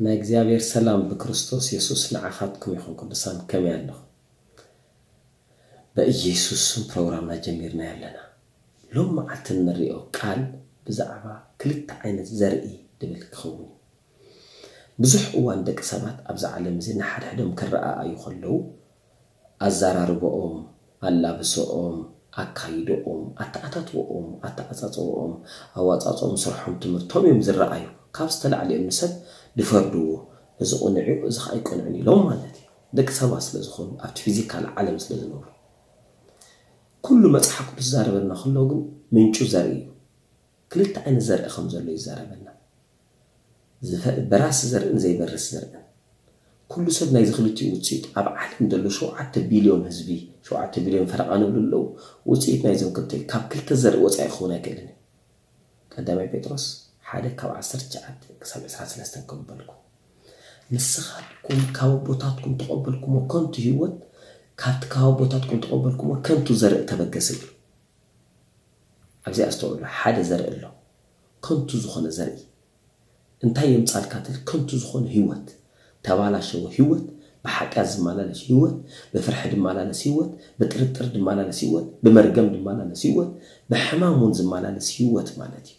ናይ እግዚኣብሔር ሰላም ብክርስቶስ የሱስ ንዓኻትኩም ይኹን። ቅዱሳን ከመይ ኣለኹም? በኢየሱስ ስም ፕሮግራምና ጀሚርና ኣለና። ሎም መዓልቲ እንሪኦ ቃል ብዛዕባ ክልተ ዓይነት ዘርኢ ድብል ክኸውን እዩ። ብዙሕ እዋን ደቂ ሰባት ኣብዛ ዓለም እዚ ንሓድሕዶም ክረኣኣዩ ከለዉ ኣዘራርባኦም፣ ኣላብሶኦም፣ ኣካይዶኦም፣ ኣተኣታትወኦም፣ ኣተዓጻጽወኦም፣ ኣዋጻጽኦም፣ ስርሖም፣ ትምህርቶም እዮም ዝረኣዩ። ካብ ዝተላዕለ እዮም ንሰብ ድፈርድዎ። እዚ ቅኑዕ እዩ፣ እዚ ኸኣ ኣይቅኑዕን ኢሎም ማለት እዩ። ደቂ ሰባት ስለ ዝኾኑ ኣብቲ ፊዚካል ዓለም ስለ ዝነብሩ። ኩሉ መጽሓፍ ቅዱስ ዝዛረበና ከሎ ግን ምንጩ ዘርኢ እዩ። ክልተ ዓይነት ዘርኢ ከም ዘሎ ይዛረበና። ዝፈ- በራሲ ዘርእን ዘይበርስ ዘርእን። ኩሉ ሰብ ናይዚ ክልቲኡ ውፅኢት ኣብ ዓለም ዘሎ ሸውዓተ ቢልዮን ህዝቢ፣ ሸውዓተ ቢልዮን ፈረቓ ንብሉ ኣለዉ። ውፅኢት ናይዞም ክልተ እዩ። ካብ ክልተ ዘርኢ ወፃኢ ክኸውን ኣይክእልን እዩ። ቀዳማይ ጴጥሮስ ሓደ ካብ ዓሰርተ ትሽዓተ ክሳብ ዕስራ ሰለስተ ከም በልኩ። ንስኻትኩም ካብ ኣቦታትኩም ተቐበልኩሞ ከንቱ ህይወት ካብቲ ካብ ኣቦታትኩም ተቐበልኩሞ ከንቱ ዘርኢ ተበገሰ እዩ። ኣብዚ ኣስተውዕሉ፣ ሓደ ዘርኢ ኣሎ፣ ከንቱ ዝኾነ ዘርኢ። እንታይ የምጻልካ ትብል? ከንቱ ዝኾነ ህይወት፣ ተባላሸወ ህይወት፣ ብሓጢኣት ዝመላለስ ህይወት፣ ብፍርሒ ዝመላለስ ህይወት፣ ብጥርጥር ዝመላለስ ህይወት፣ ብመርገም ዝመላለስ ህይወት፣ ብሕማም እውን ዝመላለስ ህይወት ማለት እዩ።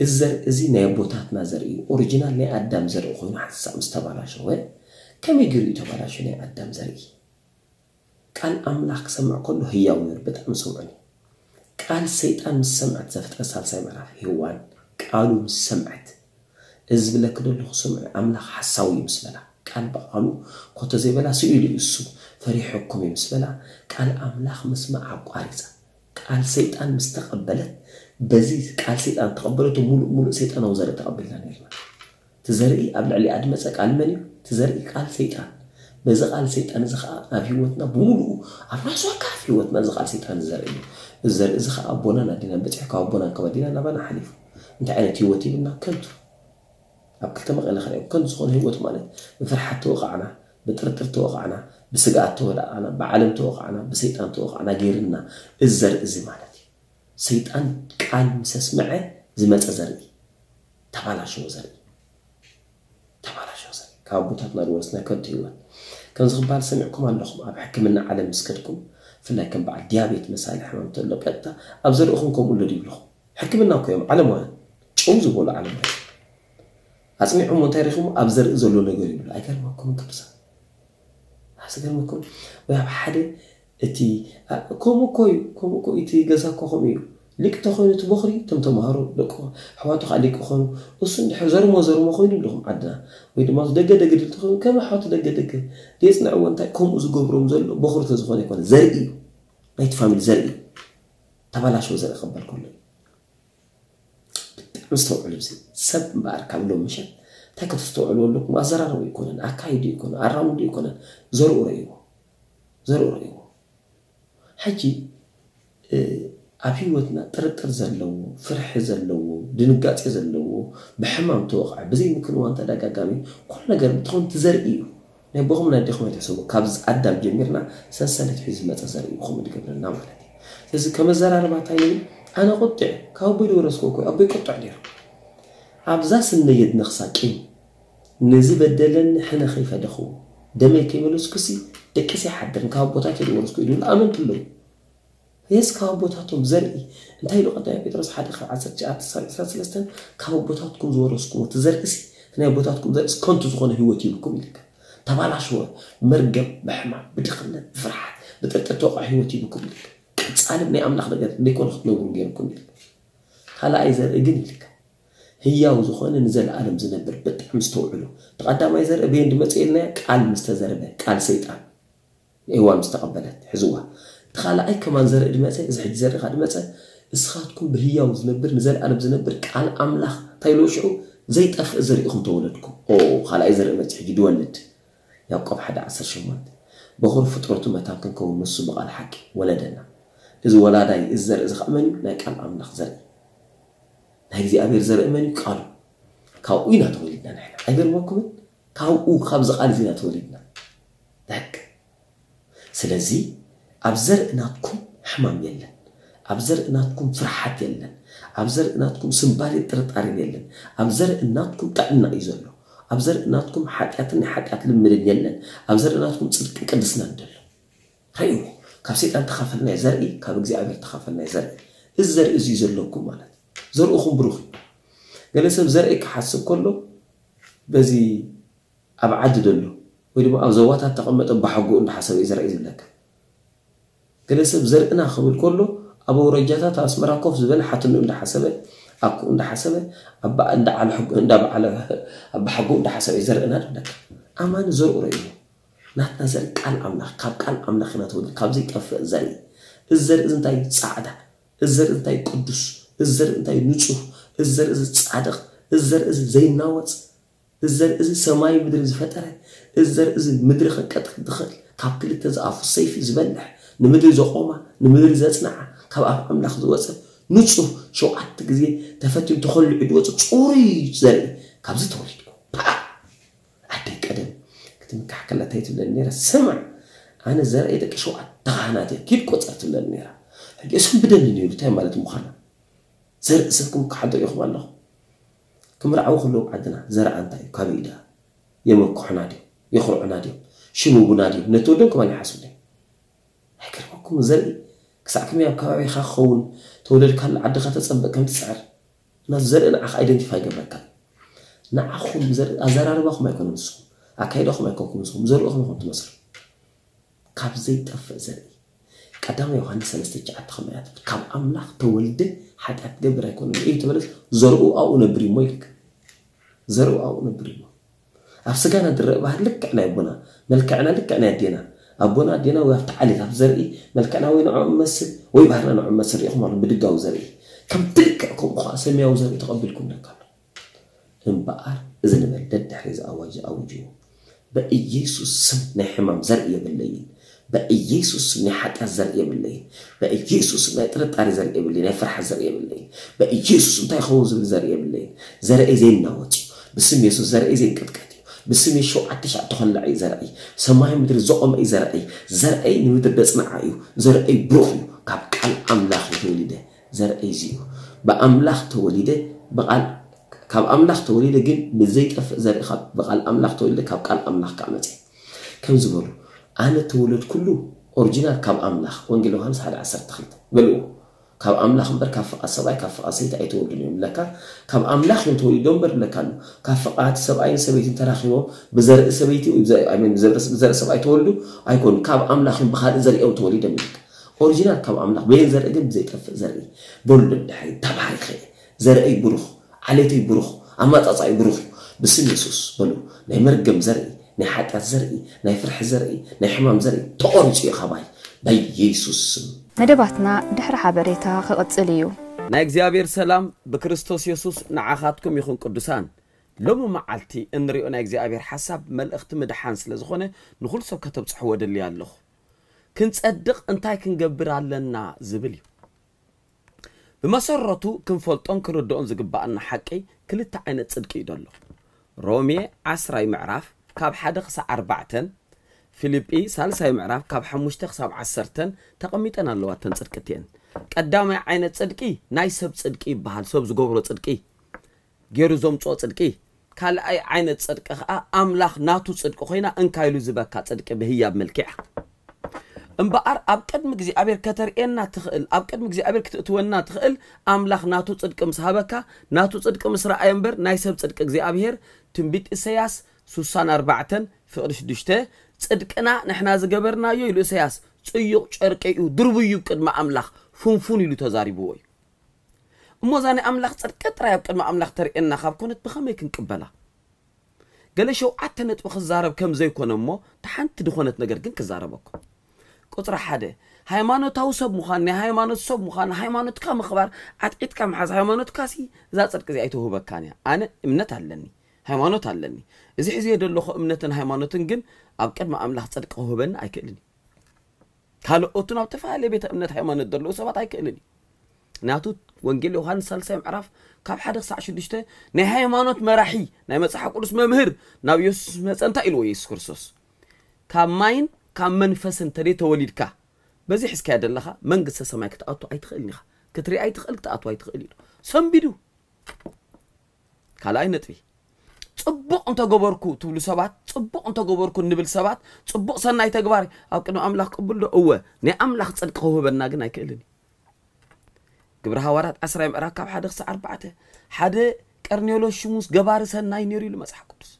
እዚ ዘርኢ እዚ ናይ ኣቦታትና ዘርኢ እዩ። ኦሪጂናል ናይ ኣዳም ዘርኢ ኮይኑ ሓንሳእ ምስ ተባላሸወ፣ ከመይ ገይሩ እዩ ተባላሸወ ናይ ኣዳም ዘርኢ? ቃል ኣምላኽ ክሰምዕ ከሎ ህያው ነይሩ፣ ብጣዕሚ ስምዑኒ። ቃል ሰይጣን ምስ ሰምዐት፣ ዘፍጥረት ሳልሳይ ምዕራፍ፣ ሄዋን ቃሉ ምስ ሰምዐት፣ እዚ ዝብለኪ ዘለኹ ስምዒ፣ ኣምላኽ ሓሳዊ እዩ ምስ በላ፣ ቃል ብቓሉ ኮተ ዘይበላ ስኢሉ እዩ እሱ፣ ፈሪሐኩም እዩ ምስ በላ፣ ቃል ኣምላኽ ምስማዕ ኣቋሪጻ። ቃል ሰይጣን ምስ ተቐበለት፣ በዚ ቃል ሰይጣን ተቐበለቶ፣ ሙሉእ ሙሉእ ሰይጣናዊ ዘርኢ ተቐቢልና ነይርና። እቲ ዘርኢ ኣብ ልዕሊኣ ዝመጸ ቃል መን እዩ? እቲ ዘርኢ ቃል ሰይጣን። በዚ ቃል ሰይጣን እዚ ኸኣ ኣብ ህይወትና ብምሉኡ፣ ኣብ ራሱ ኣካፍ ህይወትና እዚ ቃል ሰይጣን እዚ ዘርኢ እዩ። እዚ ዘርኢ እዚ ኸኣ ኣቦናን ኣዴናን በጺሑ፣ ካብ ኣቦናን ካብ ኣዴናን ናባና ሓሊፉ። እንታይ ዓይነት ህይወት ሂብና? ከንቱ። ኣብ ክልተ መቐለ ኸሪኦም። ከንቱ ዝኾነ ህይወት ማለት ብፍርሓት ተወቓዕና፣ ብጥርጥር ተወቓዕና፣ ብስግኣት ተወቓዕና፣ ብዓለም ተወቓዕና፣ ብሰይጣን ተወቓዕና ገይርና እዚ ዘርኢ እዚ ማለት እዩ። ሰይጣን ቃል ምስ ኣስምዐ ዝመጸ ዘርኢ፣ ተባላሸወ ዘርኢ፣ ተባላሸወ ዘርኢ፣ ካብ ኣቦታትና ዝወረስና ከንቱ ህይወት። ከምዚ ክበሃል ሰሚዕኩም ኣለኹም፣ ኣብ ሕክምና ዓለም ምስ ከድኩም፣ ብፍላይ ከም በዓል ዲያቤት መሳሊ ሕማም ተሎ፣ ቀጥታ ኣብ ዘርእኹም ከምኡ ኣሎ ድዩ ይብልኹም? ሕክምና እኮ እዮም ዓለማውያን፣ ጭው ዝበሉ ዓለማውያን። ኣጽኒዖም እንታይ ረኺቦም? ኣብ ዘርኢ ዘሎ ነገር ይብሉ። ኣይገርመኩምን ቅዱሳን? ኣስገርመኩም ወይ? ኣብ ሓደ እቲ፣ ኣ፣ ከምኡ እኮ እዩ፣ ከምኡ እኮ እቲ ገዛ እኮ ከምኡ እዩ። ሊቅ ተኾይኑ እቲ ቦኽሪ፣ እቶም ተምሃሮ፣ ደቁ፣ ኣሕዋቱ ከዓ ሊቅ ኾኑ፣ እሱ እንድሕር ዘርሞ ዘርሞ ኾይኑ ኣለኹም ዓድና፣ ወይ ድማ ደገ ደገ ድል ተኾይኑ፣ ከም ኣሕዋቱ ደገ ደገ፣ የጽንዕዎ እንታይ ከምኡ ዝገብሮም ዘሎ ቦኽሪ ተዝኾነ ኣይኮነ፣ ዘርኢ እዩ። ናይቲ ፋሚሊ ዘርኢ እዩ። ተባላሸወ ዘርኢ ክበል ከሎ እዩ። ብጣዕሚ ዝተውዕሉ፣ እዚ ሰብ እምበኣር ካብ ሎም ምሸት እንታይ ከተስተውዕሉ ኣለኩም? ኣዘራርቡ ይኮነን፣ ኣካይዱ ይኮነን፣ ኣራምዱ ይኮነን፣ ዘርኡ ረእይዎ፣ ዘርኡ ረእይዎ። ሕጂ፣ እ፣ ኣብ ህይወትና ጥርጥር ዘለዎ፣ ፍርሒ ዘለዎ፣ ድንጋጼ ዘለዎ፣ ብሕማም ተወቕዐ፣ ብዘይ ምክንዋን ተደጋጋሚ ኩሉ ነገር እንትኾን እቲ ዘርኢ እዩ። ናይ ኣቦኹም ናይ ኣዴኹም ኣይትሕሰቡ። ካብ ኣዳም ጀሚርና ሰንሰለት ሒዙ ዝመጸ ዘርኢ እዩ ከምኡ ዝገብረና ማለት እዩ። ስለዚ ከም ኣዘራርባ እንታይ እዩ? ኣነ ቁጥዕ ካብ ኣቦይ ዝወረስኩ እኮ እዩ። ኣቦይ ቁጥዕ ነይሩ። ኣብዛ ስነየት ነኽሳ ቂም ንዝበደለኒ ሕነ ከይፈደኽዎ ደመይ ከይመለስኩሲ ደቂሰ ኣይሓድርን፣ ካብ ኣቦታተይ ዝወረስኩ እዩ ዝብሉ ኣመንቲ ኣለዉ። የስ ካብ ኣቦታቶም ዘርኢ እንታይ ኢሉ ቀዳማይ ጴጥሮስ ሓደ ካብ ዓሰርተ ትሽዓተ ክሳብ ዕስራን ሰለስተን ካብ ኣቦታትኩም ዝወረስኩሞ እቲ ዘርእሲ እቲ ናይ ኣቦታትኩም ዘርእሲ ከንቱ ዝኾነ ህይወት ይብኩም ኢልካ ተባላሽወ ብመርገም ብሕማም ብድኽነት ብፍርሓት ብጥርጥር ተወቕዐ ህይወት ይብኩም ኢልካ ቀጻሊ ናይ ኣምላኽ ነገር ዘይኮነ ክትነብሩ ገይርኩም ኢልካ ካልኣይ ዘርኢ ግን ኢልካ ህያው ዝኾነ ንዘለኣለም ዝነብር ብጣዕሚ ዝተውዕሉ እቲ ቀዳማይ ዘርኢ በየን ድመፀ ኢልናዮ ቃል ምስተዘርበ ቃል ሰይጣን ንኤዋን ምስ ተቐበለት ሕዝዋ። እቲ ካልኣይ ከማን ዘርኢ ድመጸ፣ እዚ ሕጂ ዘርኢ ከኣ ድመጸ፣ እስኻትኩም ብህያው ዝነብር ንዘለኣለም ዝነብር ቃል ኣምላኽ እንታይ ኢልዎ ሽዑ ዘይጠፍእ ዘርኢ ኢኹም ተወለድኩም። ኦ ካልኣይ ዘርኢ መጺ ሕጂ ድወልድ። ያዕቆብ ሓደ ዓሰርተ ሸሞንተ በኹሪ ፍጥረቱ መታን ክንከውን ንሱ ብቓል ሓቂ ወለደና። እዚ ወላዳይ እዚ ዘርኢ እዚ ከኣ መን እዩ? ናይ ቃል ኣምላኽ ዘርኢ። ናይ እግዚኣብሔር ዘርኢ መን እዩ? ቃሉ። ካብኡ ኢና ተወሊድና ንሕና። ኣይገርመኩምን? ካብኡ፣ ካብዚ ቃል እዚ ኢና ተወሊድና። ደቅ ስለዚ ኣብ ዘርኢ ናትኩም ሕማም የለን። ኣብ ዘርኢ ናትኩም ፍርሓት የለን። ኣብ ዘርኢ ናትኩም ስምባዴን ጥርጣሬን የለን። ኣብ ዘርኢ ናትኩም ጥዕና እዩ ዘሎ። ኣብ ዘርኢ ናትኩም ሓጢኣትን ናይ ሓጢኣት ልምድን የለን። ኣብ ዘርኢ ናትኩም ጽድቅን ቅድስናን ደሎ። ርእይዎ፣ ካብ ሰይጣን ተኻፈልናዮ ዘርኢ፣ ካብ እግዚኣብሔር ተኻፈልናዮ ዘርኢ። እዚ ዘርኢ እዚ ዘለኩም ማለት እዩ። ዘርእኹም ብሩኽ እዩ። ገለ ሰብ ዘርኢ ክሓስብ ከሎ በዚ ኣብ ዓዲ ደሎ ወይ ድማ ኣብ ዞባታት ተቐመጠ ባሕጎ እንዳሓሰበ እዩ ዘርኢ ዝብለካ። ገለ ሰብ ዘርእና ክብል ከሎ ኣብ ኣውረጃታት ኣስመራ ኮፍ ዝበለ ሓትኑ እንዳሓሰበ ኣኩ እንዳሓሰበ ኣባ እንዳ ዓለ ሕጉ እንዳ በዓለ ኣባ ሓጎ እንዳሓሰበ እዩ ዘርእና ዝብለካ። ኣማኒ ዘርኡ ርእይዎ። ናትና ዘርኢ ቃል ኣምላኽ፣ ካብ ቃል ኣምላኽ ኢና ተወሊድና፣ ካብ ዘይጠፍእ ዘርኢ። እዚ ዘርኢ እዚ እንታይ እዩ? ጻዕዳ። እዚ ዘርኢ እንታይ እዩ? ቅዱስ። እዚ ዘርኢ እንታይ እዩ? ንጹህ። እዚ ዘርኢ እዚ ጻድቕ። እዚ ዘርኢ እዚ ዘይናወጽ። እዚ ዘርኢ እዚ ሰማይ ምድሪ ዝፈጠረ። እዚ ዘርኢ እዚ ምድሪ ከቀጥቅጥ ዝኽእል፣ ካብ ክልተ ዝኣፉ ሰይፊ ዝበልሕ፣ ንምድሪ ዘቆማ፣ ንምድሪ ዘጽንዓ፣ ካብ ኣፍ ኣምላኽ ዝወጸ ንጹህ፣ ሸውዓተ ግዜ ተፈትዩ ተኸሊዑ ዝወጸ ጽሩይ ዘርኢ ካብዚ ተወሊድኩም። ፓ! ኣደይ ቀደም ክትምካሕ ከላ እንታይ ትብለኒ ነይራ? ስማዕ፣ ኣነ ዘርኣይ ደቂ ሸውዓተ ካህናት እየ፣ ኪድ ቆጸር ትብለኒ ነይራ። ሕጂ እሶም ብደኒ ነይሩ፣ እንታይ ማለት ምዃና? ዘርኢ ሰብኩም ክሓዶ ኢኹም ኣለኹም። ክምርዓዉ ከለዉ ዓድና፣ ዘርኣ እንታይ እዩ? ካበይ እዩ ደኣ? የመክሑና ድዮም? የኹርዑና ድዮም? ሽም ቡና ድዮም? ነቲ ወዶም ከማን ይሓስቡ ድዮም? ኣይገርመኩም? ዘርኢ ክሳዕ ከመይ ኣብ ከባቢኻ ክኸውን፣ ተወለድካሉ ዓድኻ ተጸበ ከም ትጽዕር። እና ዘርኢ ንዓኻ ኣይደንቲፋይ ይገብረካ። ንዓኹም ዘርኢ ኣዘራርባኹም ኣይኮነን ንስኹም፣ ኣካይዳኹም ኣይኮንኩም ንስኹም፣ ዘርእኹም ኢኹም ትመስሉ። ካብ ዘይጠፍእ ዘርኢ። ቀዳማይ ዮሃንስ ሰለስተ ትሽዓተ ከመይ እያ ትብል? ካብ ኣምላኽ ተወልደ ሓጢኣት ትገብር ኣይኮነን። እዩ ተበለስ ዘርኡ ኣብኡ ነብር እሞ ኢልካ። ዘርኡ ኣብኡ ነብር እሞ። ኣብ ስጋና ዝረአ ባህሪ ልክዕ ናይ ኣቦና፣ መልክዕና ልክዕ ናይ ኣዴና። ኣቦና ኣዴና ወይ ኣብቲ ዓሌት ኣብ ዘርኢ መልክዕና ወይ ንዕኦም መስል ወይ ባህርና ንዕኦም መስል ርኢኹም ኣሎ ብድጋዊ ዘርኢ። ከምቲ ልክዕ ከምኡ ኸዓ ሰማያዊ ዘርኢ ተቐቢልኩም ነካ ኣሎ። እምበኣር እዚ ንበል ደድሕሪ እዚ ኣዋጅ ኣውጅዎ። በኢየሱስ ስም ናይ ሕማም ዘርኢ የብለይን። በኢየሱስ ስም ናይ ሓጢኣት ዘርኢ የብለይን። በኢየሱስ ስም ናይ ጥርጣሬ ዘርኢ የብለይን። ናይ ፍርሓት ዘርኢ የብለይን። በኢየሱስ እንታይ ይኸውን ዝብል ዘርኢ የብለይን። ዘርአይ ዘይናወጽ እዩ። ብስም የሱስ ዘርአይ ዘይንቅጥቀጥ እዩ። ብስም የሱስ ሸውዓተ ሻዕ ተኸላዕ እዩ ዘርአይ። ሰማይ ምድሪ ዘቖመ እዩ ዘርአይ። ዘርአይ ንምድሪ ደጽንዓ እዩ። ዘርአይ ብሩኽ እዩ። ካብ ቃል ኣምላኽ እዩ ተወሊደ። ዘርአይ እዚ እዩ። ብኣምላኽ ተወሊደ፣ ብቓል፣ ካብ ኣምላኽ ተወሊደ፣ ግን ብዘይጠፍእ ዘርኢ ካብ፣ ብቓል ኣምላኽ ተወሊደ፣ ካብ ቃል ኣምላኽ ከዓ መጽየ። ከም ዝበሉ፣ ኣነ ተወለድኩሉ ኦሪጂናል ካብ ኣምላኽ፣ ወንጌል ዮሃንስ ሓደ ዓሰርተ ክልተ በልዎ። ካብ ኣምላኽ እምበር ካብ ፍቓድ ሰብኣይ፣ ካብ ፍቓድ ሰይቲ ኣይተወልዱን እዮም ብለካ። ካብ ኣምላኽ እዮም ተወሊዶም እምበር ብለካ ኣሎ። ካብ ፍቓድ ሰብኣይን ሰበይትን ተራኺቦም ብዘርኢ ሰበይቲ ወይ ብዘርኢ፣ ኣይ ሚን፣ ብዘርኢ፣ ብዘርኢ ሰብኣይ ተወልዱ ኣይኮኑን። ካብ ኣምላኽ እዮም ብኻልእ ዘርኢ እዮም ተወሊዶም ይብለካ። ኦሪጂናል ካብ ኣምላኽ፣ በየን ዘርኢ ግን ብዘይጠፍእ ዘርኢ። በሉ ደድሕሪ፣ ተባሪኸ እየ፣ ዘርእይ ብሩኽ፣ ዓሌተይ ብሩኽ፣ ኣመጻጽኣይ ብሩኽ እዩ። ብስም የሱስ በሉ፣ ናይ መርገም ዘርኢ፣ ናይ ሓጢኣት ዘርኢ፣ ናይ ፍርሒ ዘርኢ፣ ናይ ሕማም ዘርኢ ተቖሪጹ እዩ ካባይ፣ በኢየሱስ ስም። መደባትና ድሕሪ ሓበሬታ ክቕጽል እዩ። ናይ እግዚኣብሔር ሰላም ብክርስቶስ የሱስ ንዓኻትኩም ይኹን ቅዱሳን። ሎሚ መዓልቲ እንሪኦ ናይ እግዚኣብሔር ሓሳብ መልእኽቲ ምድሓን ስለ ዝኾነ ንኹሉ ሰብ ከተብጽሕዎ ደልየ ኣለኹ። ክንጸድቕ እንታይ ክንገብር ኣለና ዝብል እዩ። ብመሰረቱ ክንፈልጦን ክንርድኦን ዝግባኣና ሓቂ ክልተ ዓይነት ጽድቂ እዩ ዘሎ። ሮሜ ዓስራይ ምዕራፍ ካብ ሓደ ክሳዕ ኣርባዕተን፣ ፊልጲ ሳልሳይ ምዕራፍ ካብ ሓሙሽተ ክሳብ ዓሰርተን ተቐሚጠን ኣለዋ እተን ጽድቂ እቲአን። ቀዳማይ ዓይነት ጽድቂ ናይ ሰብ ጽድቂ ይበሃል፣ ሰብ ዝገብሮ ጽድቂ፣ ገይሩ ዘምጽኦ ጽድቂ። ካልኣይ ዓይነት ጽድቂ ኸኣ ኣምላኽ ናቱ ጽድቂ ኮይና እንካ ኢሉ ዝበካ ጽድቂ ብህያብ መልክዕ። እምበኣር ኣብ ቅድሚ እግዚኣብሔር ከተርእየና ትኽእል፣ ኣብ ቅድሚ እግዚኣብሔር ክትእትወና ትኽእል ኣምላኽ ናቱ ጽድቂ ምስ ሃበካ፣ ናቱ ጽድቂ ምስ ረኣየ እምበር ናይ ሰብ ጽድቂ እግዚኣብሔር ትንቢት ኢሳያስ ሱሳን ኣርባዕተን ፍቕዲ ሽዱሽተ ጽድቅና ንሕና ዝገበርናዮ ኢሉ ኢሳያስ ጽዩቕ ጨርቂ እዩ፣ ድርቡይ እዩ ቅድሚ ኣምላኽ ፍንፉን ኢሉ ተዛሪብዎ እዩ። እሞ እዛ ናይ ኣምላኽ ጽድቂ ጥራይ ኣብ ቅድሚ ኣምላኽ ተርእየና ካብ ኮነት ብኸመይ ክንቅበላ? ገለ ሸውዓተ ነጥቢ ክዛረብ ከም ዘይኮነ እሞ፣ እታ ሓንቲ ድኾነት ነገር ግን ክዛረበኩም። ቁጽሪ ሓደ፣ ሃይማኖታዊ ሰብ ምዃን፣ ናይ ሃይማኖት ሰብ ምዃን፣ ሃይማኖትካ ምኽባር፣ ዓጥዒጥካ ምሓዝ፣ ሃይማኖትካሲ እዛ ጽድቂ እዚኣ ኣይትውህበካን እያ። ኣነ እምነት ኣለኒ፣ ሃይማኖት ኣለኒ። እዚ ሒዘዮ ዘለኹ እምነትን ሃይማኖትን ግን ኣብ ቅድሚ ኣምላኽ ጽድቂ ክውህበኒ ኣይክእልን እዩ። ካልኦትን ኣብ ተፈላለየ ቤተ እምነት ሃይማኖት ዘለዉ ሰባት ኣይክእልን እዩ። ናቱ ወንጌል ዮሃንስ ሳልሳይ ምዕራፍ ካብ ሓደ ክሳዕ ሽዱሽተ ናይ ሃይማኖት መራሒ ናይ መጽሓፍ ቅዱስ መምህር ናብ የሱስ መጸ እንታይ ኢልዎ የሱስ ክርስቶስ? ካብ ማይን ካብ መንፈስን ተደይ ተወሊድካ በዚ ሒዝካያ ዘለኻ መንግስተ ሰማይ ክትኣቱ ኣይትኽእልን ኢኻ። ክትርኢ ኣይትኽእል ክትኣቱ ኣይትኽእል ኢሉ ሰንቢዱ። ካልኣይ ነጥቢ ጽቡቕ እንተገበርኩ ትብሉ ሰባት ጽቡቕ እንተገበርኩ እንብል ሰባት ጽቡቕ ሰናይ ተግባር ኣብ ቅድሚ ኣምላኽ ቅቡል ዶ? እወ ናይ ኣምላኽ ጽድቂ ክውህበና ግን ኣይክእልን እዩ። ግብሪ ሃዋርያት ዓስራይ ምዕራፍ ካብ ሓደ ክሳዕ ኣርባዕተ ሓደ ቀርኔሎስ ሽሙስ ገባሪ ሰናይ ነይሩ ኢሉ መጽሓፍ ቅዱስ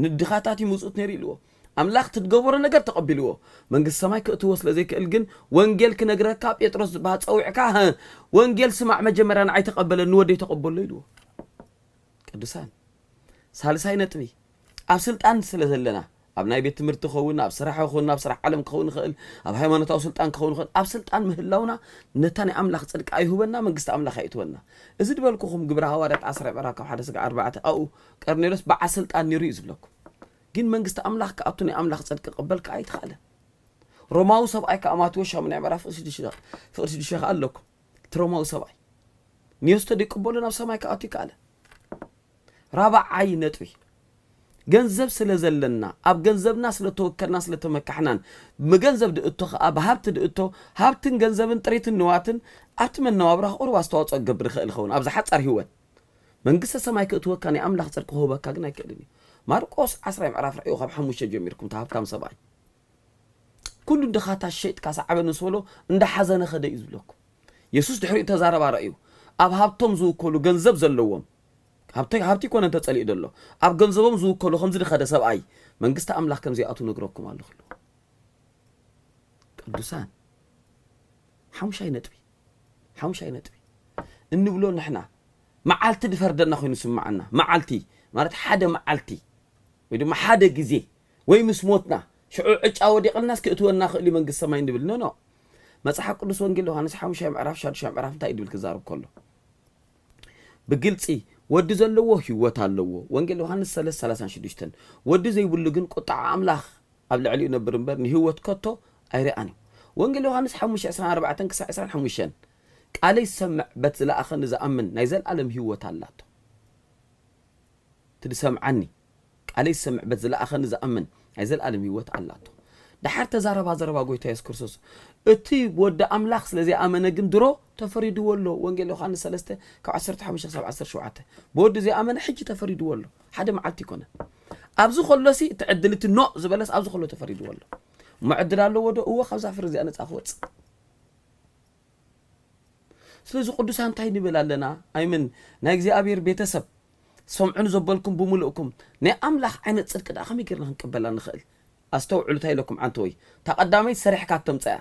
ንድኻታት ይምፁት ነይሩ ኢልዎ ኣምላኽ ትትገበሮ ነገር ተቐቢልዎ መንግስቲ ሰማይ ክእትዎ ስለ ዘይክእል ግን ወንጌል ክነግረካ ጴጥሮስ ዝበሃል ፀዊዕካ ወንጌል ስማዕ መጀመርያ ንዓይ ተቐበለኒ ወደይ ተቐበሎ ኢልዎ ቅዱሳን ሳልሳይ ነጥቢ ኣብ ስልጣን ስለ ዘለና ኣብ ናይ ቤት ትምህርቲ ክኸውን ኣብ ስራሕ ክኸውን ኣብ ስራሕ ዓለም ክኸውን ይኽእል ኣብ ሃይማኖታዊ ስልጣን ክኸውን ይኽእል ኣብ ስልጣን ምህላውና ነታ ናይ ኣምላኽ ጽድቂ ኣይሁበና መንግስቲ ኣምላኽ ኣይእትወና እዚ ዝበልኩኹም ግብረ ሃዋርያት ዓስራ ምዕራፍ ካብ ሓደ ስጋ ኣርባዕተ ኣብኡ ቀርኔሎስ በዓል ስልጣን ነይሩ እዩ ዝብለኩም ግን መንግስቲ ኣምላኽ ክኣቱ ናይ ኣምላኽ ጽድቂ ክቕበል ከዓ ኣይተኻእለን ሮማዊ ሰብኣይ ከዓ ማቴዎስ ሻሙናይ ምዕራፍ ፍቕሪ ሽዱሽተ ከዓ ኣለኩም እቲ ሮማዊ ሰብኣይ ንየሱስ ተደይቅበሉ ናብ ሰማይ ክኣቱ ይከኣለ ራብዓይ ነጥቢ ገንዘብ ስለ ዘለና ኣብ ገንዘብና ስለ ተወከልና ስለ ተመካሕናን ብገንዘብ ድእቶ ከዓ ብሃብቲ ድእቶ ሃብትን ገንዘብን ጥሪትን ንዋትን ኣብቲ መነባብራ ክቑርብ ኣስተዋፅኦ ክገብር ይኽእል ይኸውን ኣብዚ ሓፃር ህይወት መንግስተ ሰማይ ክእትወካ ናይ ኣምላኽ ፅድቂ ክህበካ ግን ኣይክእልን እዩ ማርቆስ ዓስራይ ምዕራፍ ርኣዩ ካብ ሓሙሽተ ጀሚርኩም ተሃብታም ሰብኣይ ኩሉ ድኻታት ሸይጥካ ሰዓበኒ ምስ በሎ እንዳሓዘነ ኸደ እዩ ዝብለኩም የሱስ ድሕሪኡ ተዛረባ ረእዩ ኣብ ሃብቶም ዝውከሉ ገንዘብ ዘለዎም ሃብቲ ሃብቲ ኮነ እንተጸሊኡ ዘሎ ኣብ ገንዘቦም ዝውከሉ ከምዚ ድኸደ ሰብኣይ መንግስቲ ኣምላኽ ከም ዘይኣቱ ነግረኩም ኣለኹ ኢሉ ቅዱሳን ሓሙሻይ ነጥቢ ሓሙሻይ ነጥቢ እንብሎ ንሕና መዓልቲ ድፈርደና ኮይኑ ስምዓና መዓልቲ ማለት ሓደ መዓልቲ ወይ ድማ ሓደ ግዜ ወይ ምስ ሞትና ሽዑ ዕጫ ወዲቕልናስ ክእትወና ክእል መንግስቲ ሰማይ እንብል ኖ ኖ መጽሓፍ ቅዱስ ወንጌል ዮሃንስ ሓሙሻይ ምዕራፍ ሻዱሻይ ምዕራፍ እንታይ ድብል ክዛርብ ከሎ ብግልፂ ወዲ ዘለዎ ህይወት ኣለዎ ወንጌል ዮሃንስ ሰለስተ ሰላሳን ሽዱሽተን ወዲ ዘይብሉ ግን ቁጣዓ ኣምላኽ ኣብ ልዕሊኡ ነብር እምበር ንህይወት ከቶ ኣይረኣን እዩ ወንጌል ዮሃንስ ሓሙሽተ ዕስራን ኣርባዕተን ክሳዕ ዕስራን ሓሙሽተን ቃለይ ዝሰምዕ በት ዝለኣኸኒ ዝኣምን ናይ ዘለኣለም ህይወት ኣላቶ እቲ ዝሰምዓኒ ቃለይ ዝሰምዕ በት ዝለኣኸኒ ዝኣምን ናይ ዘለኣለም ህይወት ኣላቶ። ደሓር ተዛረባ ዘረባ ጎይታ የሱስ ክርስቶስ እቲ ወዲ ኣምላኽ ስለ ዘይኣመነ ግን ድሮ ተፈሪድዎ ኣሎ። ወንጌል ዮሃንስ ሰለስተ ካብ ዓሰርተ ሓሙሽተ ክሳብ ዓሰርተ ሸውዓተ ብወዲ ዘይኣመነ ሕጂ ተፈሪድዎ ኣሎ። ሓደ መዓልቲ ይኮነ ኣብዚ ከሎሲ እቲ ዕድል እቲ ኖእ ዝበለስ ኣብዚ ከሎ ተፈሪድዎ ኣሎ። እሞ ዕድል ኣለዎ ዶ? እወ ካብዛ ፍሪ እዚኣ ነፃ ክወፅእ ስለዚ ቅዱሳን እንታይ ንብል ኣለና? ኣይምን ናይ እግዚኣብሔር ቤተሰብ ሰምዑን ዘበልኩም ብምልእኩም ናይ ኣምላኽ ዓይነት ጽድቂ ደኣ ከመይ ጌርና ክንቅበላ ንኽእል? ኣስተውዕሉ እንታይ ኢለኩም ዓንተወይ። እታ ቀዳመይቲ ሰሪሕካ ተምጽኣ።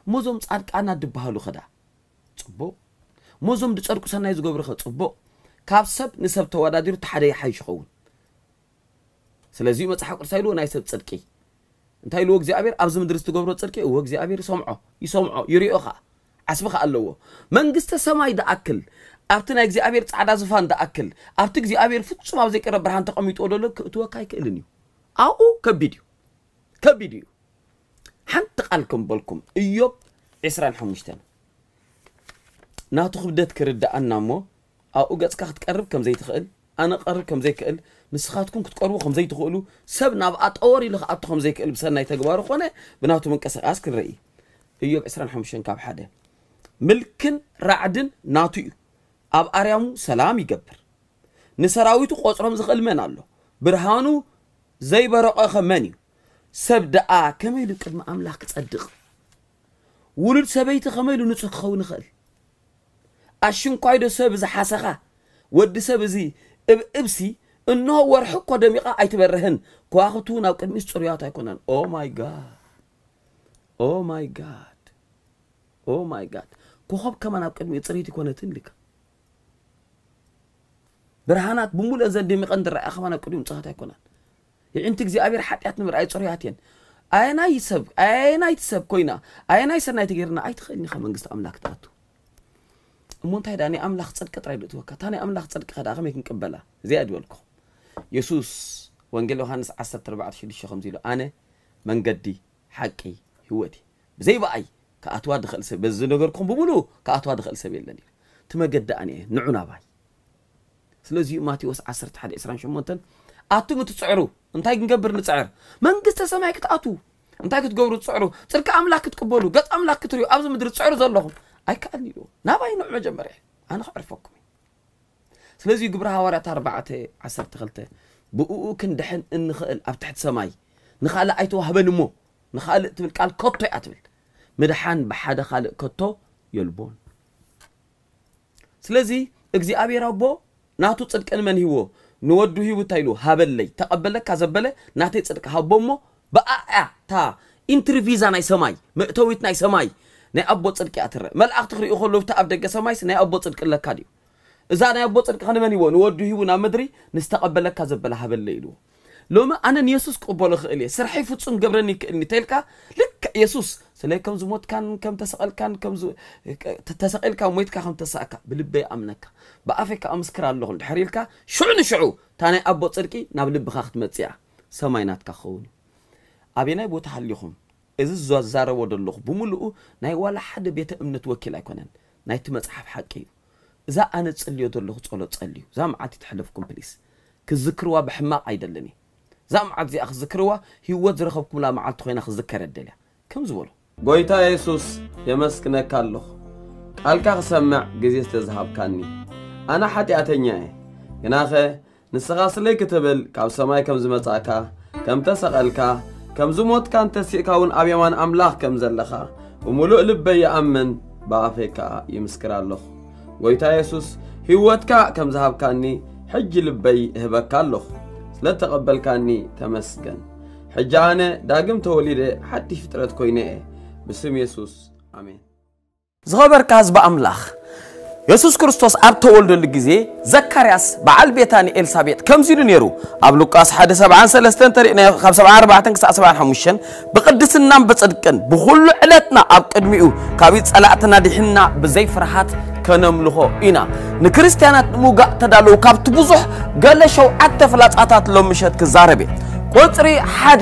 እሞ እዞም ጻድቃና ድበሃሉ ኸ ደኣ ጽቡቕ። እሞ እዞም ድጸድቁ ሰናይ ዝገብሩ ኸ ጽቡቕ። ካብ ሰብ ንሰብ ተወዳዲሩ እቲ ሓደ ይሓይሽ ይኸውን። ስለዚ መጽሓፍ ቅዱስ ኢልዎ ናይ ሰብ ጽድቂ እንታይ ኢልዎ እግዚኣብሔር ኣብዚ ምድሪ ዝትገብሮ ጽድቂ እዎ እግዚኣብሔር ይሰምዖ ይሰምዖ ይሪኦ ኸዓ ዓስቢ ኸዓ ኣለዎ መንግስተ ሰማይ ደኣክል ኣብቲ ናይ እግዚኣብሔር ጻዕዳ ዝፋን ደኣክል ኣብቲ እግዚኣብሔር ፍጹም ኣብ ዘይቀረ ብርሃን ተቐሚጥዎ ደሎ ክእትወካ ኣይክእልን እዩ ኣብኡ ከቢድ እዩ ከቢድ እዩ ሓንቲ ቃል ከም በልኩም እዮብ ዕስራን ሓሙሽተን ናቱ ክብደት ክርድኣና እሞ ኣብኡ ገጽካ ክትቀርብ ከም ዘይትኽእል ኣነ ክቐርብ ከም ዘይክእል ንስኻትኩም ክትቀርቡ ከም ዘይትኽእሉ ሰብ ናብ ኣጠወር ኢሉ ክኣቱ ከም ዘይክእል ብሰናይ ተግባሩ ኮነ ብናቱ ምንቅስቃስ ክንርኢ እዮብ ዕስራን ሓሙሽተን ካብ ሓደ ምልክን ራዕድን ናቱ እዩ ኣብ ኣርያሙ ሰላም ይገብር ንሰራዊቱ ቆጽሮም ዝኽእል መን ኣሎ ብርሃኑ ዘይበረቐኸ መን እዩ ሰብ ደኣ ከመይ ኢሉ ቅድሚ ኣምላኽ ክጸድቕ ውሉድ ሰበይቲ ከመይ ኢሉ ንጹህ ክኸውን ይኽእል ኣሽንኳይዶ ሰብ እዚ ሓሰኻ ወዲ ሰብ እዚ እብ እብሲ እንሆ ወርሒ እኮ ደሚቓ ኣይትበርህን ከዋኽብቲ እውን ኣብ ቅድሚስ ጽሩያት ኣይኮነን oh my god oh my god oh my god ኮኸብ ከማን ኣብ ቅድሚኡ ጽርይቲ ኮነትን ኢልካ ብርሃናት ብምሉእ ዘን ደሚቐን ዝረኣያ ከማን ኣብ ቅድሚኡ ንጹሃት ኣይኮናን የዒንቲ እግዚኣብሔር ሓጢኣት ንምርኣይ ጽሩያት እየን ኣየናይ ሰብ ኣየናይቲ ሰብ ኮይና ኣየናይ ሰናይ ተገይርና ኣይትኽእልን ኢኻ መንግስቲ ኣምላክ ትኣቱ እሞ እንታይ ደኣ ናይ ኣምላኽ ጽድቂ ጥራይ ዶ እትወካ እታ ናይ ኣምላኽ ጽድቂ ከ ደኣ ከመይ ክንቅበላ እዚኣ ድበልኩ የሱስ ወንጌል ዮሃንስ ዓሰርተ ኣርባዕተ ሽዱሽተ ከምዚ ኢሉ ኣነ መንገዲ ሓቂ ህይወት ብዘይ ብኣይ ክኣትዋ ዝኽእል ሰብ፣ በዚ ነገርኩም ብምሉእ ክኣትዋ ዝኽእል ሰብ የለን ኢሉ። እቲ መገዲ ኣነ እየ፣ ንዑ ናባይ። ስለዚ እዩ ማቴዎስ ዓሰርተ ሓደ ዕስራን ሸሞንተን፣ ኣቱም እትጽዕሩ እንታይ ክንገብር ንጽዕር? መንግስተ ሰማይ ክትኣትዉ እንታይ ክትገብሩ ትጽዕሩ? ጽድቂ ኣምላኽ ክትቅበሉ፣ ገጽ ኣምላኽ ክትርእዩ ኣብዚ ምድሪ ትጽዕሩ ዘለኹም ኣይከኣልን ኢልዎ። ናባይ ንዑ መጀመርያ፣ ኣነ ከዕርፈኩም እየ። ስለዚ ግብሪ ሃዋርያት ኣርባዕተ ዓሰርተ ክልተ፣ ብእኡ ክንድሕን እንኽእል ኣብ ትሕቲ ሰማይ ንኻልእ ኣይተዋህበን እሞ፣ ንኻልእ ትብል ቃል ከቶ እያ ትብል። ምድሓን ብሓደ ካልእ ከቶ የልቦን። ስለዚ እግዚኣብሔር ኣቦ ናቱ ጽድቂ ንመን ሂቦ? ንወዱ ሂቡ እንታይ ኢሉ? ሃበለይ። ተቐበለካ ዘበለ ናተይ ጽድቂ ሃቦ እሞ ብኣያ እታ ኢንትሪ ቪዛ ናይ ሰማይ፣ መእተዊት ናይ ሰማይ ናይ ኣቦ ጽድቂ እያ ትረአ። መልኣኽቲ ክርእዩ ከለዉ ኣብቲ ኣብ ደገ ሰማይስ ናይ ኣቦ ጽድቂ ኣለካ ድዩ? እዛ ናይ ኣቦ ጽድቂ ከ ንመን ሂቦ? ንወዱ ሂቡ ናብ ምድሪ ንዝተቐበለካ ዘበለ ሃበለይ ኢልዎ። ሎሚ ኣነ ንየሱስ ክቕበሎ እኽእል እየ፣ ስርሐይ ፍጹም ክገብረኒ ይክእልኒ እንተኢልካ፣ ልክዕ የሱስ ስለይ ከም ዝሞትካን ከም ተሰቐልካን ከም ዝ-፣ ተ-፣ ተሰቒልካ ሞይትካ ከም ተሳእካ ብልበይ ኣምነካ፣ ብኣፈይ ከኣ ምስክር ኣለኹ እንድሕር ኢልካ፣ ሽዑ ንሽዑ እታ ናይ ኣቦ ጽድቂ ናብ ልብኻ ክትመጽእ እያ፣ ሰማይ ናትካ ክኸውን እዩ። ኣበየናይ ቦታ ሃሊኹም፣ እዚ ዝዛረቦ ዘለኹ ብምሉኡ ናይ ዋላ ሓደ ቤተ እምነት ወኪል ኣይኮነን፣ ናይቲ መጽሓፍ ሓቂ እዩ። እዛ ኣነ ጽልዮ ዘለኹ ጸሎት ጸልዩ። እዛ መዓልቲ ትሕለፍኩም ፕሊስ። ክዝክርዋ ብሕማቕ ኣይደልን እየ። እዛ መዓልቲ እዚኣ ክዝክርዋ ህይወት ዝረኸብኩምላ መዓልቲ ኮይና ክዝከር እደልያ። ከም ዝበሎ ጎይታ የሱስ የመስግነካ ኣለኹ። ቃልካ ክሰምዕ ግዜ ስለ ዝሃብካኒ። ኣነ ሓጢኣተኛ እየ። ግናኸ ንስኻ ስለይ ክትብል ካብ ሰማይ ከም ዝመጻእካ፣ ከም ተሰቐልካ፣ ከም ዝሞትካን ተሲእካ እውን ኣብ የማን ኣምላኽ ከም ዘለኻ ብምሉእ ልበይ ይኣምን፣ ብኣፈይ ከኣ ይምስክር ኣለኹ። ጎይታ የሱስ ህይወትካ ከም ዝሃብካኒ ሕጂ ልበይ እህበካ ኣለኹ። ስለ ተቐበልካኒ ተመስገን። ሕጂ ኣነ ዳግም ተወሊደ ሓድሽ ፍጥረት ኮይነ እየ። ብስም የሱስ ኣሜን። ዝኸበርካ ህዝቢ ኣምላኽ፣ የሱስ ክርስቶስ ኣብ ተወልደሉ ግዜ ዘካርያስ በዓል ቤታን ኤልሳቤጥ ከምዚ ኢሉ ነይሩ። ኣብ ሉቃስ ሓደ ሰብዓን ሰለስተን ተሪእና ካብ ሰብዓን ኣርባዕተን ክሳዕ ሰብዓን ሓሙሽተን፣ ብቕድስናን ብጽድቅን ብኹሉ ዕለትና ኣብ ቅድሚኡ ካብ ጸላእትና ድሒንና ብዘይ ፍርሃት ከነምልኾ ኢና። ንክርስትያናት ንምውጋእ ተዳለዉ ካብቲ ብዙሕ ገለ ሸውዓተ ፍላጻታት ሎም ምሸት ክዛረብ እየ። ቁጽሪ ሓደ፣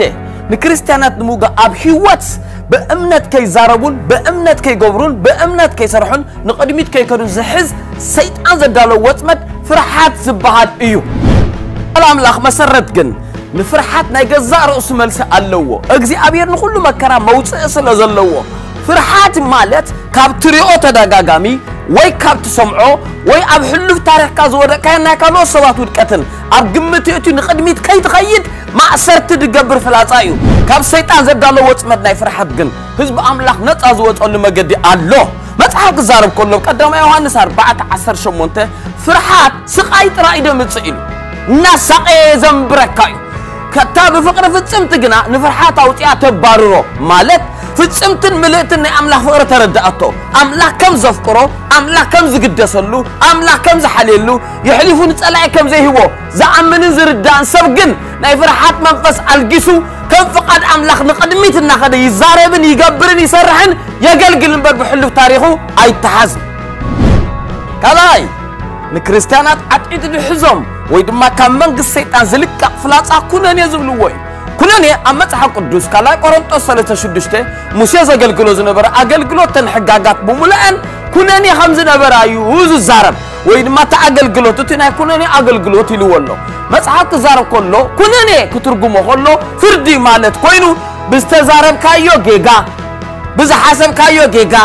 ንክርስትያናት ንምውጋእ ኣብ ህይወት ብእምነት ከይዛረቡን ብእምነት ከይገብሩን ብእምነት ከይሰርሑን ንቕድሚት ከይከዱን ዝሕዝ ሰይጣን ዘዳለዎ ወጽመድ ፍርሓት ዝበሃል እዩ። ቃል ኣምላኽ መሰረት ግን ንፍርሓት ናይ ገዛእ ርእሱ መልሲ ኣለዎ። እግዚኣብሔር ንኹሉ መከራ መውጽኢ ስለ ዘለዎ፣ ፍርሓት ማለት ካብ ትሪኦ ተደጋጋሚ ወይ ካብ ትሰምዖ ወይ ኣብ ሕሉፍ ታሪኽካ ዝወደቅካዮ ናይ ካልኦት ሰባት ውድቀትን ኣብ ግምት የእትዩ ንቕድሚት ከይትኸይድ ማእሰርቲ ዝገብር ፍላጻ እዩ። ካብ ሰይጣን ዘዳለዎ ወጽመድ ናይ ፍርሓት ግን ህዝቢ ኣምላኽ ነጻ ዝወጸሉ መገዲ ኣሎ። መጽሓፍ ክዛረብ ከሎ ቀዳማይ ዮሃንስ ኣርባዕተ ዓሰርተ ሸሞንተ ፍርሓት ስቓይ ጥራይ እዩ ዘምጽእ ኢሉ። እናሳቐየ ዘንብረካ እዩ። ከታ ብፍቕሪ ፍጽምቲ ግና ንፍርሓት ኣውጺኣ ተባርሮ፣ ማለት ፍጽምትን ምልእትን ናይ ኣምላኽ ፍቕሪ ተረድኣቶ። ኣምላኽ ከም ዘፍቅሮ፣ ኣምላኽ ከም ዝግደሰሉ፣ ኣምላኽ ከም ዝሓልየሉ፣ የሕሊፉ ንጸላኢ ከም ዘይህቦ ዝኣምንን ዝርዳእን ሰብ ግን ናይ ፍርሓት መንፈስ ኣልጊሱ ከም ፍቓድ ኣምላኽ ንቕድሚት እናኸደ ይዛረብን ይገብርን ይሰርሕን የገልግል እምበር ብሕሉፍ ታሪኹ ኣይተሓዝን። ካልኣይ፣ ንክርስትያናት ዓጢጡ ዝሕዞም ወይ ድማ ካብ መንግስቲ ሰይጣን ዝልቀቕ ፍላጻ ኩነኔ ዝብልዎ እዩ። ኩነኔ ኣብ መጽሓፍ ቅዱስ ካልኣይ ቆሮንጦስ ሰለስተ ሽዱሽተ ሙሴ ዘገልግሎ ዝነበረ ኣገልግሎት ተን ሕጋጋት ብምሉአን ኩነኔ ከም ዝነበራ እዩ ዝዛረብ ወይ ድማ እቲ ኣገልግሎት እቲ ናይ ኩነኔ ኣገልግሎት ኢልዎ ኣሎ። መጽሓፍ ክዛረብ ከሎ ኩነኔ ክትርጉሞ ከሎ ፍርዲ ማለት ኮይኑ ብዝተዛረብካዮ ጌጋ፣ ብዝሓሰብካዮ ጌጋ፣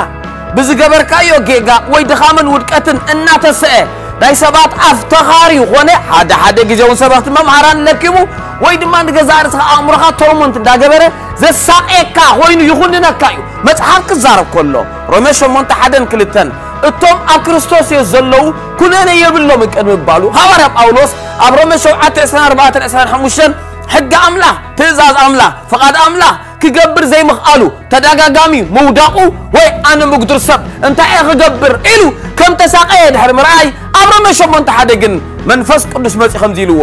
ብዝገበርካዮ ጌጋ ወይ ድኻምን ውድቀትን እናተሰአ ናይ ሰባት ኣፍተኻሪ ኾነ ሓደ ሓደ ግዜ እውን ሰበኽቲ መምሃራን ለኪሙ ወይ ድማ ንገዛእ ርእስኻ ኣእምሮኻ ቶርሞንት እንዳገበረ ዘሳቕየካ ኮይኑ ይኹንነካ እዩ። መጽሓፍ ክዛረብ ከሎ ሮሜ ሸሞንተ ሓደን ክልተን እቶም ኣብ ክርስቶስ የስ ዘለዉ ኩነኔ የብሎምን ቅድሚ ምባሉ ሃዋርያ ጳውሎስ ኣብ ሮሜ ሸውዓተ ዕስራን ኣርባዕተን ዕስራን ሓሙሽተን ሕጊ ኣምላኽ፣ ትእዛዝ ኣምላኽ፣ ፍቓድ ኣምላኽ ክገብር ዘይምኽኣሉ ተደጋጋሚ ምውዳቑ ወይ ኣነ ምጉድር ሰብ እንታይ እየ ክገብር ኢሉ ከም ተሳቐየ ድሕሪ ምርኣይ ኣብ ሮሜ ሸሞንተ ሓደ ግን መንፈስ ቅዱስ መጺኡ ከምዚ ኢልዎ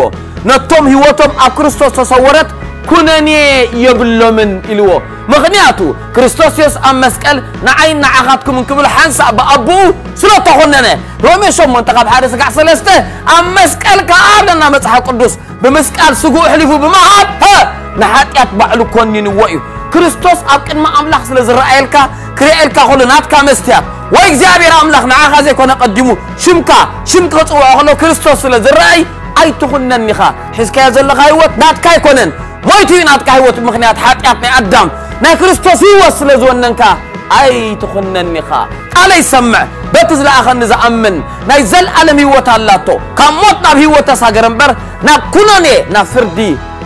ነቶም ህይወቶም ኣብ ክርስቶስ ተሰወረት ኩነኔ የብሎምን ኢልዎ። ምኽንያቱ ክርስቶስ የሱስ ኣብ መስቀል ንዓይን ንዓኻትኩምን ክብል ሓንሳእ ብኣቦኡ ስለ ተኾነነ። ሮሜ ሸሞንተ ካብ ሓደ ስጋዕ ሰለስተ ኣብ መስቀል ከኣ ኣለና መጽሓፍ ቅዱስ ብምስቃል ስግኡ ኣሕሊፉ ብምሃብ፣ ሀ፣ ንሓጢኣት ባዕሉ ኮኒንዎ እዩ። ክርስቶስ ኣብ ቅድሚ ኣምላኽ ስለ ዝረኣየልካ፣ ክርእየልካ ከሎ ናትካ መስትያት ወይ እግዚኣብሔር ኣምላኽ ንዓኻ ዘይኮነ ቀዲሙ ሽምካ፣ ሽም ክጽውዖ ከሎ ክርስቶስ ስለ ዝረኣይ ኣይትኹነን ኢኻ። ሒዝካዮ ዘለኻ ህይወት ናትካ ኣይኮነን። ሞይቱ እዩ ናትካ ህይወት ምኽንያት ሓጢኣት ናይ ኣዳም። ናይ ክርስቶስ ህይወት ስለ ዝወነንካ ኣይትኹነን ኢኻ። ቃለይ ሰምዕ፣ በቲ ዝለኣኸኒ ዝኣምን ናይ ዘለኣለም ህይወት ኣላቶ። ካብ ሞት ናብ ህይወት ተሳገረ እምበር ናብ ኩነኔ ናብ ፍርዲ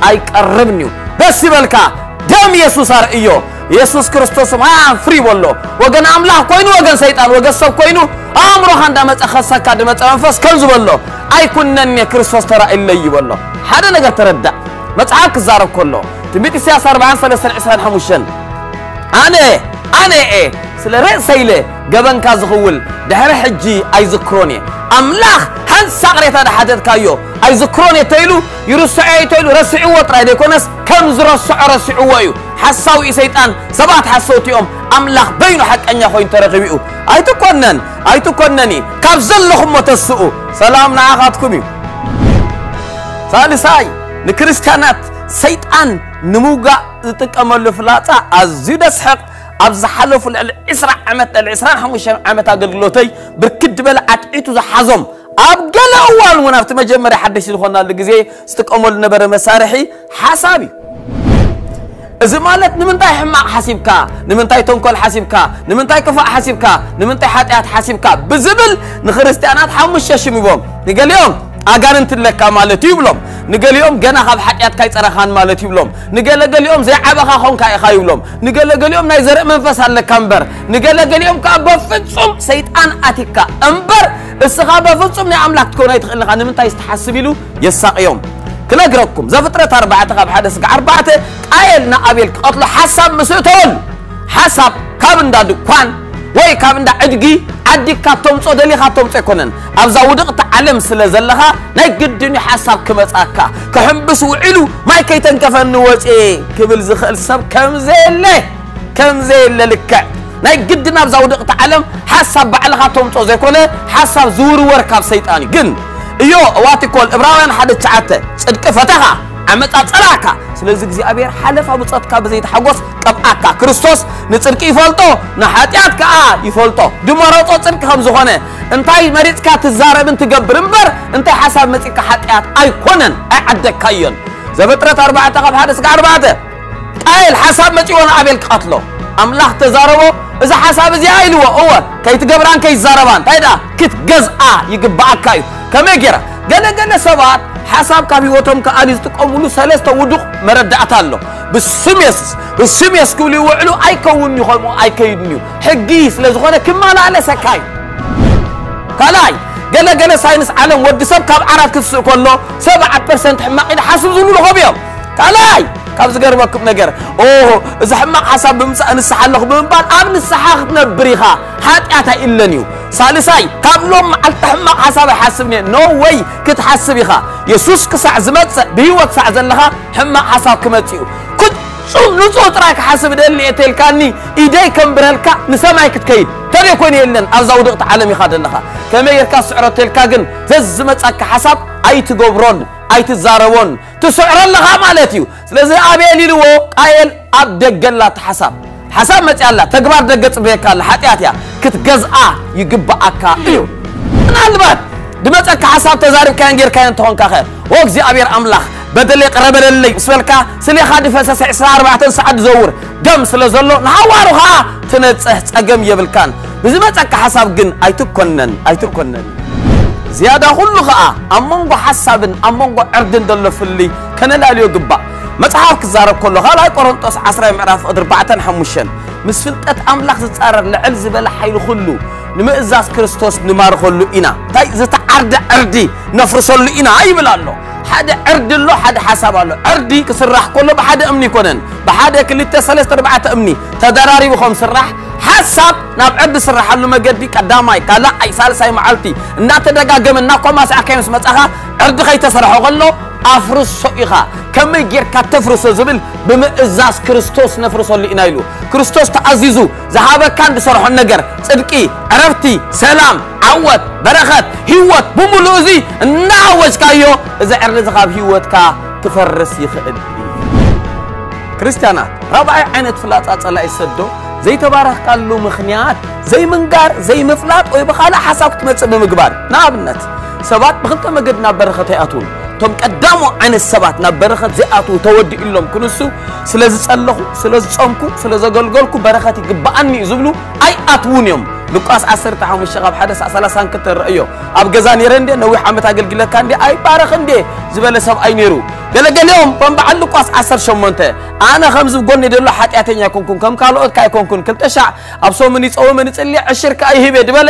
ኣይቀርብን እዩ። ደስ ይበልካ፣ ደም የሱስ ኣርእዮ። የሱስ ክርስቶስ ማያን ፍሪ በሎ። ወገን ኣምላኽ ኮይኑ፣ ወገን ሰይጣን፣ ወገን ሰብ ኮይኑ፣ ኣእምሮኻ እንዳመጸ ኸሰካ ድመጸ መንፈስ ከም ዝበሎ ኣይኩነኔ ክርስቶስ ተራእይለይ ይበሎ። ሓደ ነገር ተረዳእ። መጽሓፍ ክዛረብ ከሎ ትንቢት ኢሳያስ ኣርባዓን ሰለስተን ዕስራን ሓሙሽተን ኣነ ኣነ እየ ስለ ርእሰይ ኢለ ገበንካ ዝኽውል ድሕሪ ሕጂ ኣይዝክሮን እየ። ኣምላኽ ሓንሳእ ቅሬታ ድሓተትካዮ ኣይዝክሮን እየ ተይሉ ይርስዖ እዩ ተይሉ ረስዕዎ ጥራይ ዘይኮነስ ከም ዝረስዖ ረስዕዎ እዩ። ሓሳዊ እዩ ሰይጣን፣ ሰባት ሓሰውቲ እዮም፣ ኣምላኽ በይኑ ሓቀኛ ኮይኑ ተረኺቡ እዩ። ኣይትኮነን ኣይትኮነኒ ካብ ዘለኹሞ ተስኡ። ሰላም ንዓኻትኩም እዩ። ሳልሳይ ንክርስትያናት ሰይጣን ንምውጋእ ዝጥቀመሉ ፍላጻ ኣዝዩ ደስሕቕ። ኣብ ዝሓለፉ ልዕሊ ዕስራ ዓመት፣ ልዕሊ ዕስራን ሓሙሽተን ዓመት ኣገልግሎተይ ብርክት ዝበለ ዓትዒቱ ዝሓዞም፣ ኣብ ገለ እዋን እውን ኣብቲ መጀመርያ ሓደሽቲ ዝኾናሉ ግዜ ዝጥቀመሉ ነበረ መሳርሒ ሓሳብ እዩ። እዚ ማለት ንምንታይ ሕማቕ ሓሲብካ፣ ንምንታይ ተንኮል ሓሲብካ፣ ንምንታይ ክፋእ ሓሲብካ፣ ንምንታይ ሓጢኣት ሓሲብካ ብዝብል ንክርስትያናት ሓሙሽተ ሽም ሂቦም። ንገሊኦም ኣጋንንት ኣለካ ማለት እዩ ይብሎም። ንገሊኦም ገና ካብ ሓጢኣትካ ኣይጸረኻን ማለት ይብሎም። ንገለገሊኦም ዘይዓበኻ ኾንካ ኢኻ ይብሎም። ንገለገሊኦም ናይ ዘርኢ መንፈስ ኣለካ እምበር። ንገለገሊኦም ከኣ በፍጹም ሰይጣን ኣቲካ እምበር እስኻ በፍጹም ናይ ኣምላኽ ክትከውን ኣይትኽእልን ኢኻ። ንምንታይ ትሓስብ ኢሉ የሳቕዮም። ክነግረኩም፣ ዘፍጥረት ኣርባዕተ ካብ ሓደ ስጋዕ ኣርባዕተ፣ ቃየል ንኣቤል ክቐትሎ ሓሳብ ምስ እተወሉ፣ ሓሳብ ካብ እንዳ ድኳን ወይ ካብ እንዳ ዕድጊ ዓዲግካ ተምጾ ደሊኻ ተምጾ ኣይኮነን። ኣብዛ ውድቕቲ ዓለም ስለ ዘለኻ ናይ ግድን እዩ ሓሳብ ክመጻካ። ክሕምብስ ውዒሉ ማይ ከይተንከፈኒ ወጽኤ ክብል ዝኽእል ሰብ ከም ዘየለ፣ ከም ዘየለ ልክዕ ናይ ግድን ኣብዛ ውድቕቲ ዓለም ሓሳብ ባዕልኻ ተምጾ ዘይኮነ ሓሳብ ዝውርወር ካብ ሰይጣን እዩ። ግን እዮ እዋቲኮል እብራውያን ሓደ ትሽዓተ ጽድቂ ፈተኻ ዓመጻ ጸላእካ። ስለዚ እግዚኣብሔር ሓለፋ ብጾትካ ብዘይተሓጎስ ቀብኣካ። ክርስቶስ ንጽድቂ ይፈልጦ፣ ንሓጢኣት ከኣ ይፈልጦ። ድመረጾ ጽድቂ ከም ዝኾነ እንታይ መሪጽካ ትዛረብን ትገብር እምበር እንታይ ሓሳብ መጺካ ሓጢኣት ኣይኮነን፣ ኣይዓደግካዮን። ዘፍጥረት ኣርባዕተ ካብ ሓደ ስጋዕ ኣርባዕተ። ቃየል ሓሳብ መጺዎ ንኣቤል ክቐትሎ ኣምላኽ ተዛረቦ። እዚ ሓሳብ እዚኣ ኢልዎ፣ እወ ከይትገብራን ከይትዛረባን እንታይ ደኣ ክትገዝኣ ይግብኣካ እዩ። ከመይ ገይራ? ገለ ገለ ሰባት ሓሳብ ካብ ህይወቶም ክኣሊ ዝጥቀሙሉ ሰለስተ ውዱቕ መረዳእታ ኣሎ። ብስም የሱስ ብስም የሱስ ክብሉ ይውዕሉ። ኣይከውን እዩ፣ ከምኡ ኣይከይድን እዩ። ሕጊ ስለ ዝኾነ ክመላለሰካ እዩ። ካልኣይ፣ ገለ ገለ ሳይንስ ዓለም ወዲ ሰብ ካብ ዓራት ክትስእ ከሎ ሰብዓ ፐርሰንት ሕማቕ ኢደ ሓስብ ዝብሉ ረኸቡ እዮም። ካልኣይ ካብ ዝገርመኩም ነገር ኦ እዚ ሕማቕ ሓሳብ ብምምፃእ ንስሓ ኣለኹ ብምባል ኣብ ንስሓ ክትነብር ኢኻ። ሓጢኣት ኣይእለን እዩ። ሳልሳይ ካብ ሎም መዓልቲ ሕማቕ ሓሳብ ኣይሓስብን እየ። ኖ ወይ ክትሓስብ ኢኻ። የሱስ ክሳዕ ዝመፅእ ብህይወት ክሳዕ ዘለኻ ሕማቕ ሓሳብ ክመፅእ እዩ። ፍጹም ንጹህ ጥራይ ክሓስብ ደሊ እየ ተልካኒ ኢደይ ከንብረልካ ንሰማይ ክትከይድ ተደይ ኮነ የለን ኣብዛ ውድቕቲ ዓለም ኢኻ ዘለኻ። ከመይ ጌርካ ስዕሮ ተልካ ግን ዘዝመጻካ ሓሳብ ኣይትገብሮን ኣይትዛረቦን ትስዕሮ ኣለኻ ማለት እዩ። ስለዚ ኣቤል ኢልዎ ቃየል ኣብ ደገ ኣላ እቲ ሓሳብ። ሓሳብ መጺኣላ ተግባር ደገ ጽበየካ ኣላ ሓጢኣት እያ ክትገዝኣ ይግብኣካ እዩ። ምናልባት ድመጸካ ሓሳብ ተዛሪብካዮን ጌርካዮን ተኾንካ ኸ ኦ እግዚኣብሔር ኣምላኽ በደለይ ቅረ በለለይ ምስ በልካ ስሌኻ ድፈሰሰ ዕስራ ኣርባዕተ ሰዓት ድዘውር ደም ስለ ዘሎ ንሃዋሩ ኸኣ ትነጽህ ጸገም የብልካን። ብዝመጸካ ሓሳብ ግን ኣይትኮነን ኣይትኮነን። ዝያዳ ኩሉ ኸኣ ኣብ መንጎ ሓሳብን ኣብ መንጎ ዕርድን ዘሎ ፍልይ ከነላልዮ ግባእ። መጽሓፍ ክዛረብ ከሎ ካልኣይ ቆሮንጦስ ዓስራይ ምዕራፍ ዕስራን ኣርባዕተን ሓሙሽተን ምስ ፍልጠት ኣምላኽ ዝጻረር ልዕል ዝበለ ሓይሊ ኩሉ ንምእዛዝ ክርስቶስ ንማርኸሉ ኢና። እንታይ ዝተዓርደ ዕርዲ ነፍርሰሉ ኢና ይብል ኣሎ። ሓደ ዕርዲ ኣሎ፣ ሓደ ሓሳብ ኣሎ። ዕርዲ ክስራሕ ከሎ ብሓደ እምኒ ይኮነን፣ ብሓደ ክልተ ሰለስተ ኣርባዕተ እምኒ ተደራሪቡ ከም ስራሕ ሓሳብ ናብ ዕርዲ ስራሓሉ መገዲ ቀዳማይ ካልኣይ ሳልሳይ መዓልቲ እናተደጋገመ እናኮማሳዕካዮ ምስ መጻኻ ዕርዲ ከይተሰርሖ ከሎ ኣፍርሶ ኢኻ። ከመይ ጌርካ ተፍርሶ ዝብል ብምእዛዝ ክርስቶስ ነፍርሰሉ ኢና ኢሉ። ክርስቶስ ተኣዚዙ ዝሃበካን ዝሰርሖን ነገር ጽድቂ፣ ዕረፍቲ፣ ሰላም፣ ዓወት፣ በረኸት፣ ህይወት ብምሉእ እዚ እናኣወጅካዮ እዚ ዕርዲ እዚ ካብ ህይወትካ ክፈርስ ይኽእል እዩ። ክርስትያናት፣ ራብዓይ ዓይነት ፍላጻ ጸላኢ ዝሰዶ ዘይተባረኽካሉ ምኽንያት ዘይምንጋር፣ ዘይምፍላጥ ወይ ብኻልእ ሓሳብ ክትመጽእ ብምግባር። ንኣብነት፣ ሰባት ብኽልተ መገዲ ናብ በረኸት ኣይኣትዉን። እቶም ቀዳሞ ዓይነት ሰባት ናብ በረኸት ዘይኣትዉ ተወዲኡሎም ክንሱ፣ ስለ ዝጸለኹ፣ ስለ ዝጾምኩ፣ ስለ ዘገልገልኩ በረኸት ይግብኣኒ እዩ ዝብሉ ኣይኣትዉን እዮም። ሉቃስ ዓሰርተ ሓሙሽተ ካብ ሓደ ክሳዕ ሰላሳ ክተረእዮ። ኣብ ገዛ ነይረ እንዴ፣ ነዊሕ ዓመት ኣገልግለካ እንዴ፣ ኣይባረኽ እንዴ ዝበለ ሰብኣይ ነይሩ። ገለገሊኦም ከም በዓል ሉቃስ ዓሰርተ ሸሞንተ፣ ኣነ ከምዚ ጎኒ ዘሎ ሓጢኣተኛ ኣይኮንኩን፣ ከም ካልኦት ከ ኣይኮንኩን፣ ክልተ ሻዕ ኣብ ሰሙን ይጸውምን ይጽሊ፣ ዕሽር ከኣ ይህብ እየ ዝበለ፣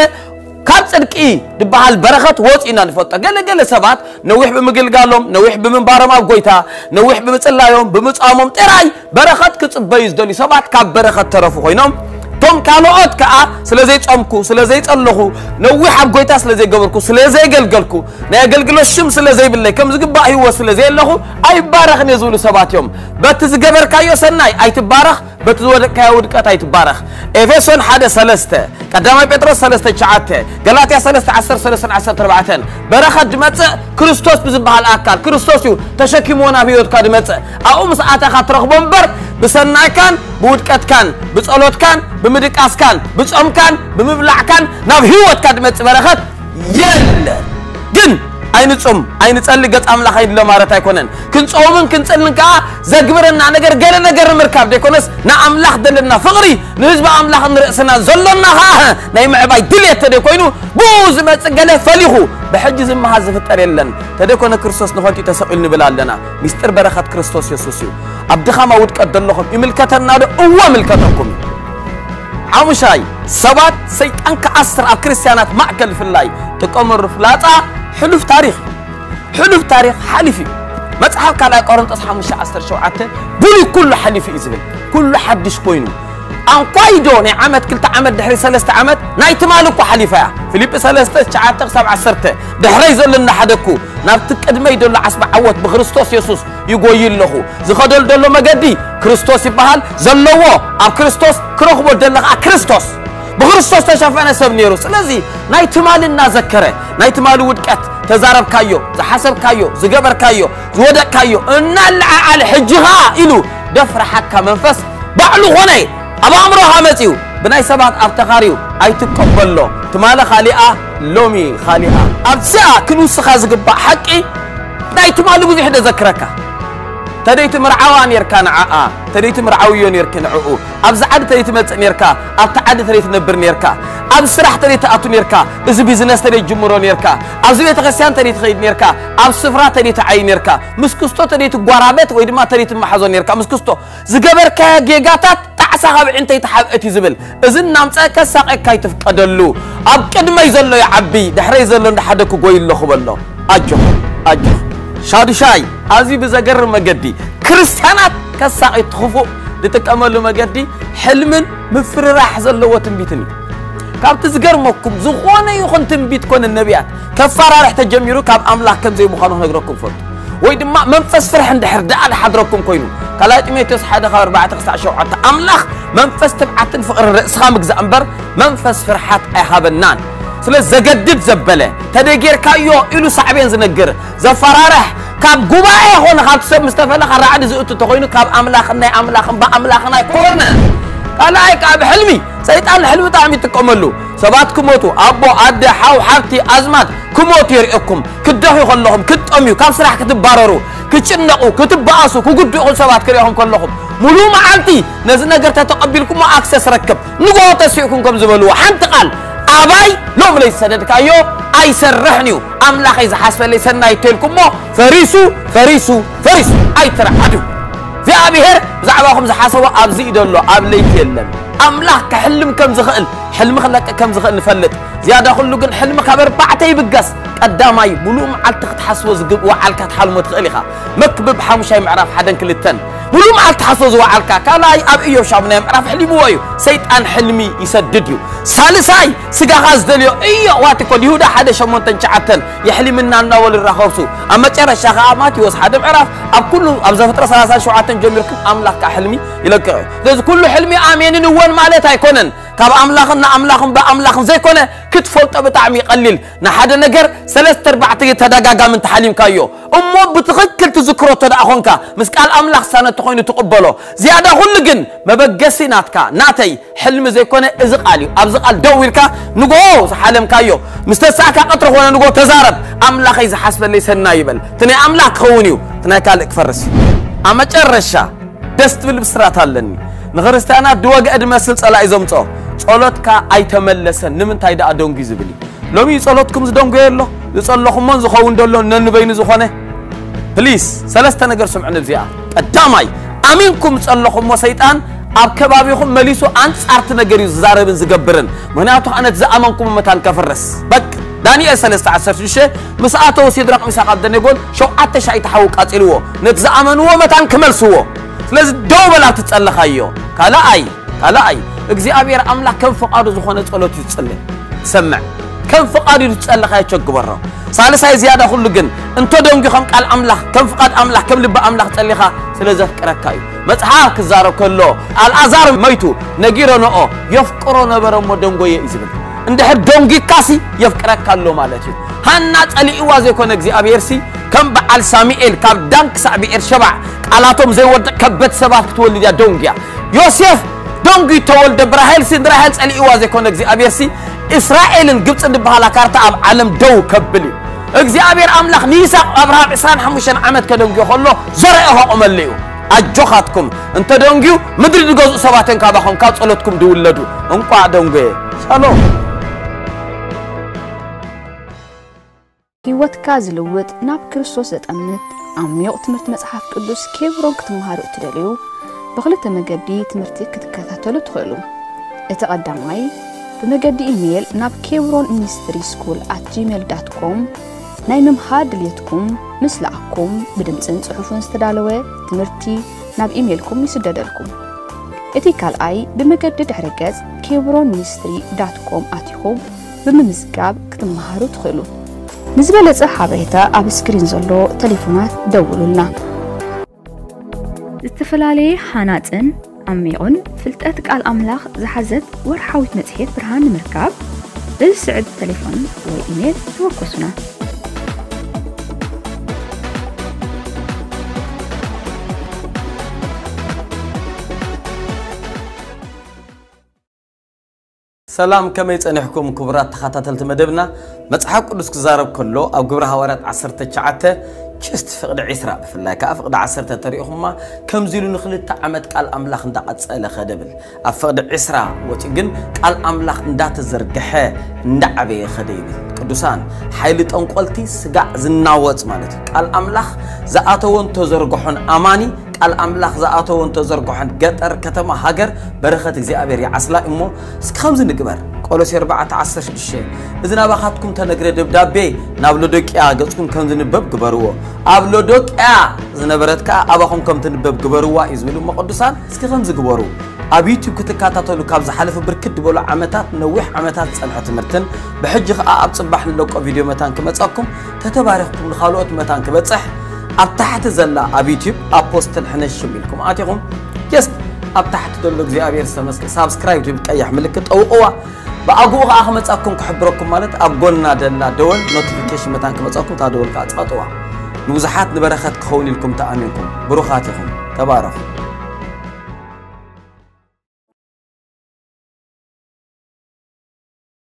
ካብ ጽድቂ ዝበሃል በረኸት ወጺኡ ኢና ንፈልጦ። ገለገለ ሰባት ነዊሕ ብምግልጋሎም፣ ነዊሕ ብምንባሮም ኣብ ጎይታ፣ ነዊሕ ብምጽላዮም፣ ብምጻሞም ጥራይ በረኸት ክጽበዩ ዝደልዩ ሰባት ካብ በረኸት ተረፉ ኮይኖም፣ እቶም ካልኦት ከኣ ስለ ዘይጸምኩ፣ ስለ ዘይጸለኹ፣ ነዊሕ ኣብ ጎይታ ስለ ዘይገበርኩ፣ ስለ ዘይገልገልኩ፣ ናይ ኣገልግሎት ሽም ስለ ዘይብለይ፣ ከም ዝግባእ ህይወት ስለ ዘየለኹ ኣይባረኽን እየ ዝብሉ ሰባት እዮም። በቲ ዝገበርካዮ ሰናይ ኣይትባረኽ፣ በቲ ዝወደቅካዮ ውድቀት ኣይትባረኽ። ኤፌሶን ሓደ ሰለስተ፣ ቀዳማይ ጴጥሮስ ሰለስተ ትሽዓተ፣ ገላትያ ሰለስተ ዓሰርተ ሰለስተ ዓሰርተ ኣርባዕተ። በረኸት ድመጽእ ክርስቶስ ብዝበሃል ኣካል፣ ክርስቶስ እዩ ተሸኪምዎ ናብ ህይወትካ ድመጽእ። ኣብኡ ምስ ኣተኻ ትረኽቦ እምበር፣ ብሰናይካን ብውድቀትካን ብጸሎትካን ብምድቃስካን ብጾምካን ብምብላዕካን ናብ ህይወትካ ድመጽእ በረኸት የለ። ግን ኣይንጹም ኣይንጸሊ ገጽ ኣምላኽ ኣይድሎ ማለት ኣይኮነን። ክንጸውምን ክንጽልን ከኣ ዘግብረና ነገር ገለ ነገር ንምርካብ ደይኮነስ፣ ንኣምላኽ ዘለና ፍቕሪ፣ ንህዝቢ ኣምላኽ ንርእስና ዘሎና ከኣ ናይ ምዕባይ ድልየት ተደይኮይኑ፣ ብኡ ዝመጽእ ገለ ፈሊኹ ብሕጂ ዝመሃዝ ዝፍጠር የለን። ተደይኮነ ክርስቶስ ንኸንቱ ተሰቒሉ ንብል ኣለና። ሚስጥር በረኸት ክርስቶስ የሱስ እዩ። ኣብ ድኻማ ውድቀት ዘለኹም ይምልከተና ዶ? እወ፣ ይምልከተኩም እዩ። ሓሙሻይ፣ ሰባት ሰይጣን ክኣስር ኣብ ክርስትያናት ማእከል ፍላይ ጥቀመሉ ፍላጻ ሕሉፍ ታሪኽ እዩ። ሕሉፍ ታሪኽ ሓሊፉ እዩ። መጽሓፍ ካልኣይ ቆሮንጦስ ሓሙሽተ ዓሰርተ ሸውዓተ፣ ብሉይ ኩሉ ሓሊፉ እዩ ዝብል፣ ኩሉ ሓድሽ ኮይኑ። ኣንኳይዶ ናይ ዓመት፣ ክልተ ዓመት ድሕሪ ሰለስተ ዓመት ናይ ትማሊ እኮ ሓሊፋ እያ። ፊልጲ ሰለስተ ትሽዓተ ክሳብ ዓሰርተ፣ ድሕረይ ዘሎ እናሓደግኩ ናብቲ ቅድመይ ዘሎ ዓስቢ ዓወት ብክርስቶስ የሱስ ይጎይ ኣለኹ። ዝኸደሉ ዘሎ መገዲ ክርስቶስ ይበሃል። ዘለዎ ኣብ ክርስቶስ፣ ክረኽቦ ደለ ኸዓ ክርስቶስ። ብክርስቶስ ተሸፈነ ሰብ ነይሩ። ስለዚ ናይ ትማሊ እናዘከረ፣ ናይ ትማሊ ውድቀት፣ ተዛረብካዮ፣ ዝሓሰብካዮ፣ ዝገበርካዮ፣ ዝወደቅካዮ እናለዓዓለ፣ ሕጂ ኸዓ ኢሉ ደፍረሓካ መንፈስ ባዕሉ ኾነ። ኣብ ኣእምሮኻ መጺኡ፣ ብናይ ሰባት ኣብ ተኻርዩ ኣይትቀበሎ። ትማሊ ካሊኣ፣ ሎሚ ካሊኣ። ኣብዚኣ ክንውስኻ ዝግባእ ሓቂ፣ ናይ ትማሊ ብዙሕ ደዘክረካ። ተደይ ትምርዓዋ ኔርካ ንዓኣ፣ ተደይ ትምርዓውዮ ኔርኪ ንዕኡ። ኣብዚ ዓዲ ተደይ ትመጽእ ኔርካ፣ ኣብቲ ዓዲ ተደይ ትነብር ኔርካ፣ ኣብዚ ስራሕ ተደይ ትኣቱ ኔርካ፣ እዚ ቢዝነስ ተደይ ትጅምሮ ኔርካ፣ ኣብዚ ቤተክርስትያን ተደይ ትኸይድ ኔርካ፣ ኣብ ስፍራ ተደይ ትዓይ ኔርካ፣ ምስ ክስቶ ተደይ ትጓራበት ወይ ድማ ተደይ ትመሓዞ ኔርካ፣ ምስ ክስቶ ዝገበርካዮ ጌጋታት ጣዕሳ ካብ ዕንተይ ተሓብእት እዩ ዝብል። እዚ እናምፀ ከሳቐካ ይትፍቀደሉ። ኣብ ቅድመይ ዘሎ ይዓቢ፣ ድሕረይ ዘሎ እንዳሓደግኩ ጎይ ኣለኹ በሎ። ኣጆኹ፣ ኣጆኹ። ሻዱሻይ፣ ኣዝዩ ብዘገርም መገዲ ክርስትያናት ከሳቒ እቲ ክፉእ ዝጥቀመሉ መገዲ ሕልምን ምፍርራሕ ዘለዎ ትንቢትን እዩ። ካብቲ ዝገርመኩም፣ ዝኾነ ይኹን ትንቢት ኮነ ነቢያት ከፈራርሕ ተጀሚሩ ካብ ኣምላኽ ከም ዘይምዃኑ ክነግረኩም ፈቱ። ወይ ድማ መንፈስ ፍርሒ እንድሕር ደኣ ዝሓድረኩም ኮይኑ፣ ካልኣይ ጢሞቴዎስ ሓደ ካብ ኣርባዕተ ክሳዕ ሸውዓተ፣ ኣምላኽ መንፈስ ትብዓትን ፍቕርን ርእስኻ ምግዛእ እምበር መንፈስ ፍርሓት ኣይሃበናን። ስለ ዘገድድ ዘበለ፣ ተደይ ጌርካዮ ኢሉ ሳዕቤን ዝነግር፣ ዘፈራርሕ፣ ካብ ጉባኤ ኾነ ካብቲ ሰብ ምስ ተፈለኻ ራዕዲ ዝእቱ ተኾይኑ፣ ካብ ኣምላኽን ናይ ኣምላኽን ብኣምላኽን ኣይኮነ። ካልኣይ ከኣ ብሕልሚ፣ ሰይጣን ንሕልሚ ብጣዕሚ ይጥቀመሉ። ሰባት ክሞቱ፣ ኣቦ፣ ኣደ፣ ሓው፣ ሓብቲ፣ ኣዝማድ ክሞቱ የርእየኩም። ክትደኽዩ ከለኹም፣ ክትጠምዩ፣ ካብ ስራሕ ክትባረሩ፣ ክትጭነቑ፣ ክትበኣሱ፣ ክጉድእኹም ሰባት ክርእኹም ከለኹም፣ ሙሉእ መዓልቲ ነዚ ነገር ተተቐቢልኩሞ ኣክሰስ ረክብ። ንግሆ ተሲእኩም ከም ዝበልዎ፣ ሓንቲ ቃል፣ ኣባይ ሎም ለይሰደድካዮ ኣይሰርሕን እዩ። ኣምላኸይ ዝሓስበለይ ሰናይ ተልኩሞ፣ ፈሪሱ፣ ፈሪሱ፣ ፈሪሱ። ኣይትርዓዱ። እግዚኣብሔር ብዛዕባኹም ዝሓሰቦ ኣብዚ እዩ ዘሎ፣ ኣብ ለይቲ የለን። ኣምላኽ ክሕልም ከም ዝኽእል፣ ሕልሚ ክለቅቕ ከም ዝኽእል ንፈልጥ። ዝያዳ ኩሉ ግን ሕልሚ ካብ ኣርባዕተ ይብገስ። ቀዳማይ፣ ሙሉእ መዓልቲ ክትሓስቦ ዝግብ-፣ ወዓልካ ትሓልሞ ትኽእል ኢኻ። መክብብ ሓሙሻይ ምዕራፍ ሓደን ክልተን። ሙሉእ መዓልቲ ሓስቦ ዝወዓልካ። ካልኣይ፣ ኣብ ኢዮብ ሻሙናይ ምዕራፍ ኣሕሊምዎ እዩ። ሰይጣን ሕልሚ ይሰድድ እዩ። ሳልሳይ፣ ስጋኻ ዝደልዮ እዮ ዋትኮል ይሁዳ ሓደ ሸሞንተን ትሽዓተን የሕሊምና እናበሉ ይራኸብሱ። ኣብ መጨረሻ ኸዓ ማቴዎስ ሓደ ምዕራፍ ኣብ ኩሉ ኣብ ዘፍጥረት ሰላሳን ሸውዓተን ጀሚርኩም ኣምላኽ ከኣ ሕልሚ ይለቅቕ እዩ። ስለዚ ኩሉ ሕልሚ ኣሜንን እወን ማለት ኣይኮነን። ካብ ኣምላኽን ንኣምላኽን ብኣምላኽን ዘይኮነ ክትፈልጦ ብጣዕሚ ይቐሊል። ንሓደ ነገር ሰለስተ ኣርባዕተ ተደጋጋሚ እንተሓሊምካዮ እሞ ብትኽክል ትዝክሮ እንተ ደኣ ኾንካ ምስ ቃል ኣምላኽ ሳነ ተኾይኑ ትቕበሎ። ዝያዳ ኩሉ ግን መበገሲ ናትካ ናተይ ሕልሚ ዘይኮነ እዚ ቃል እዩ። ኣብዚ ቃል ደው ኢልካ ንግሆ ዝሓለምካዮ ምስ ተሳእካ ቀትሪ ኾነ ንግሆ ተዛረብ። ኣምላኸይ ዝሓስበለይ ሰናይ ይበል። እቲ ናይ ኣምላኽ ክኸውን እዩ፣ እቲ ናይ ካልእ ክፈርስ እዩ። ኣብ መጨረሻ ደስ ትብል ብስራት ኣለኒ። ንክርስትያናት ድወግአ ድመስል ጸላኢ ዘምጽኦ ጸሎትካ ኣይተመለሰን ንምንታይ ደኣ ደንጉ ዝብል እዩ። ሎሚ ጸሎትኩም ዝደንጎየ ኣሎ፣ ዝጸለኹሞን ዝኸውን ዘሎ ነንበይኑ ዝኾነ። ፕሊስ ሰለስተ ነገር ስምዑ ነብዚኣ። ቀዳማይ ኣሚንኩም ጸለኹሞ ሰይጣን ኣብ ከባቢኹም መሊሱ ኣንጻርቲ ነገር እዩ ዝዛረብን ዝገብርን። ምክንያቱ ከዓ ነቲ ዝኣመንኩም መታን ከፍርስ። በቅ ዳንኤል ሰለስተ ዓሰርተ ሽዱሽተ ምስ ኣተው ሲድራቅ ሚሳቅ ኣብደኔጎን ሸውዓተ ሻይ ተሓው ቃጺልዎ ነቲ ዝኣመንዎ መታን ክመልስዎ። ስለዚ ደው በላ ትጸለኻዮ። ካልኣይ ካልኣይ እግዚኣብሔር ኣምላኽ ከም ፍቓዱ ዝኾነ ጸሎት እዩ ዝጽልእ። ሰምዕ ከም ፍቓዱ እዩ ዝጸለኻዮ ቸግበሮ። ሳልሳይ ዝያዳ ኩሉ ግን እንተ ደንጉ ከም ቃል ኣምላኽ ከም ፍቓድ ኣምላኽ ከም ልቢ ኣምላኽ ጸሊኻ ስለ ዘፍቅረካ እዩ። መጽሓፍ ክዛረብ ከሎ ኣልኣዛር መይቱ ነጊረንኦ የፍቅሮ ነበረ እሞ ደንጎየ እዩ ዝብል። እንድሕር ደንጊካሲ የፍቅረካ ኣሎ ማለት እዩ። ሃና ጸሊእዋ ዘይኮነ እግዚኣብሔር ሲ ከም በዓል ሳሙኤል ካብ ዳን ክሳዕ ብኤር ሸባዕ ቃላቶም ዘይወድቕ ከበድ ሰባት ክትወልድ እያ ደንጉያ። ዮሴፍ ደንጉ ተወልደ ብራሄል ሲ ንራሄል ጸሊእዋ ዘይኮነ እግዚኣብሔር ሲ እስራኤልን ግብፅን ዝበሃላ ካርታ ኣብ ዓለም ደው ከብል እዩ። እግዚኣብሔር ኣምላኽ ንይስሐቅ ኣብርሃም ዕስራን ሓሙሽተን ዓመት ከደንጉዮ ከሎ ዘርአ ከቆመሉ እዩ። ኣጆኻትኩም እንተ ደንጉዩ ምድሪ ዝገዝኡ ሰባት እዮም ካባኹም ካብ ጸሎትኩም ድውለዱ። እንቋዕ ደንጎየ። ሻሎም። ህይወትካ ዝልውጥ ናብ ክርስቶስ ዘጠምት ዓሚቕ ትምህርቲ መጽሓፍ ቅዱስ ኬብሮን ክትመሃሩ እትደልዩ ብኽልተ መገዲ ትምህርቲ ክትከታተሉ ትኽእሉ። እቲ ቀዳማይ ብመገዲ ኢሜይል ናብ ኬብሮን ሚኒስትሪ ስኩል ኣት ጂሜል ዳት ኮም ናይ ምምሃር ድልየትኩም ምስ ለኣኩም ብድምፅን ፅሑፍን ዝተዳለወ ትምህርቲ ናብ ኢሜይልኩም ይስደደልኩም። እቲ ካልኣይ ብመገዲ ድሕረ ገፅ ኬብሮን ሚኒስትሪ ዳት ኮም ኣቲኹም ብምምዝጋብ ክትመሃሩ ትኽእሉ። ንዝበለፀ ሓበሬታ ኣብ ስክሪን ዘሎ ቴሌፎናት ደውሉልና። ዝተፈላለየ ሃናፅን ዓሚቑን ፍልጠት ቃል ኣምላኽ ዝሓዘት ወርሓዊት መጽሔት ብርሃን ንምርካብ በዚ ስዕብ ቴሌፎን ወይ ኢሜል ተወከሱና። ሰላም፣ ከመይ ጸኒሕኩም ክቡራት ተኸታተልቲ መደብና? መጽሓፍ ቅዱስ ክዛረብ ከሎ ኣብ ግብረ ሃዋርያት ዓሰርተ ትሽዓተ ችስት ፍቕዲ ዕስራ ብፍላይ ከኣ ፍቕዲ ዓሰርተ ተሪእኹማ ከምዚ ኢሉ ንኽልተ ዓመት ቃል ኣምላኽ እንዳቐጸለ ኸደ ብል። ኣብ ፍቕዲ ዕስራ ወጺኡ ግን ቃል ኣምላኽ እንዳተዘርግሐ እንዳዓበየ ኸደ ይብል። ቅዱሳን፣ ሓይሊ ጠንቆልቲ ስጋዕ ዝናወጽ ማለት እዩ። ቃል ኣምላኽ ዝኣተወን ተዘርግሖን ኣማኒ ቃል ኣምላኽ ዝኣተወን ተዘርግሖን ገጠር፣ ከተማ፣ ሃገር በረኸት እግዚኣብሔር ይዓስላ እሞ እስኪ ከምዚ ንግበር። ቆሎሴ ኣርባዕተ ዓሰርተ ሽዱሽተ እዚ ናባኻትኩም ተነግረ ደብዳቤ ናብ ሎዶቅያ ገጽኩም ከም ዝንበብ ግበርዎ። ኣብ ሎዶቅያ ዝነበረት ከኣ ኣባኹም ከም ትንበብ ግበርዋ እዩ ዝብል እሞ ቅዱሳን እስኪ ከምዚ ግበሩ። ኣብ ዩቲዩብ ክትከታተሉ ካብ ዝሓለፈ ብርክት ዝበሉ ዓመታት ነዊሕ ዓመታት ዝጸንሐ ትምህርትን ብሕጂ ከኣ ኣብ ጽባሕ ንለቆ ቪድዮ መታን ክመጻኩም ተተባሪኽኩም ንኻልኦት መታን ክበጽሕ ኣብ ታሕቲ ዘላ ኣብ ዩቲዩብ ኣፖስትል ሕነሽም ኢልኩም ኣቲኹም ጀስት ኣብ ታሕቲ ዘሎ እግዚኣብሔር ዝተመስገ ሳብስክራይብ ትብል ቀያሕ ምልክት ጠውቕዋ። ብኣግኡ ከኣ ክመጻኩም ክሕብረኩም ማለት ኣብ ጎና ደላ ደወል ኖቲፊኬሽን መታን ክመጻኩም እታ ደወል ከኣ ጸቕጥዋ። ንብዙሓት ንበረኸት ክኸውን ኢልኩም ተኣሚንኩም ብሩኻት ኢኹም። ተባረኹ።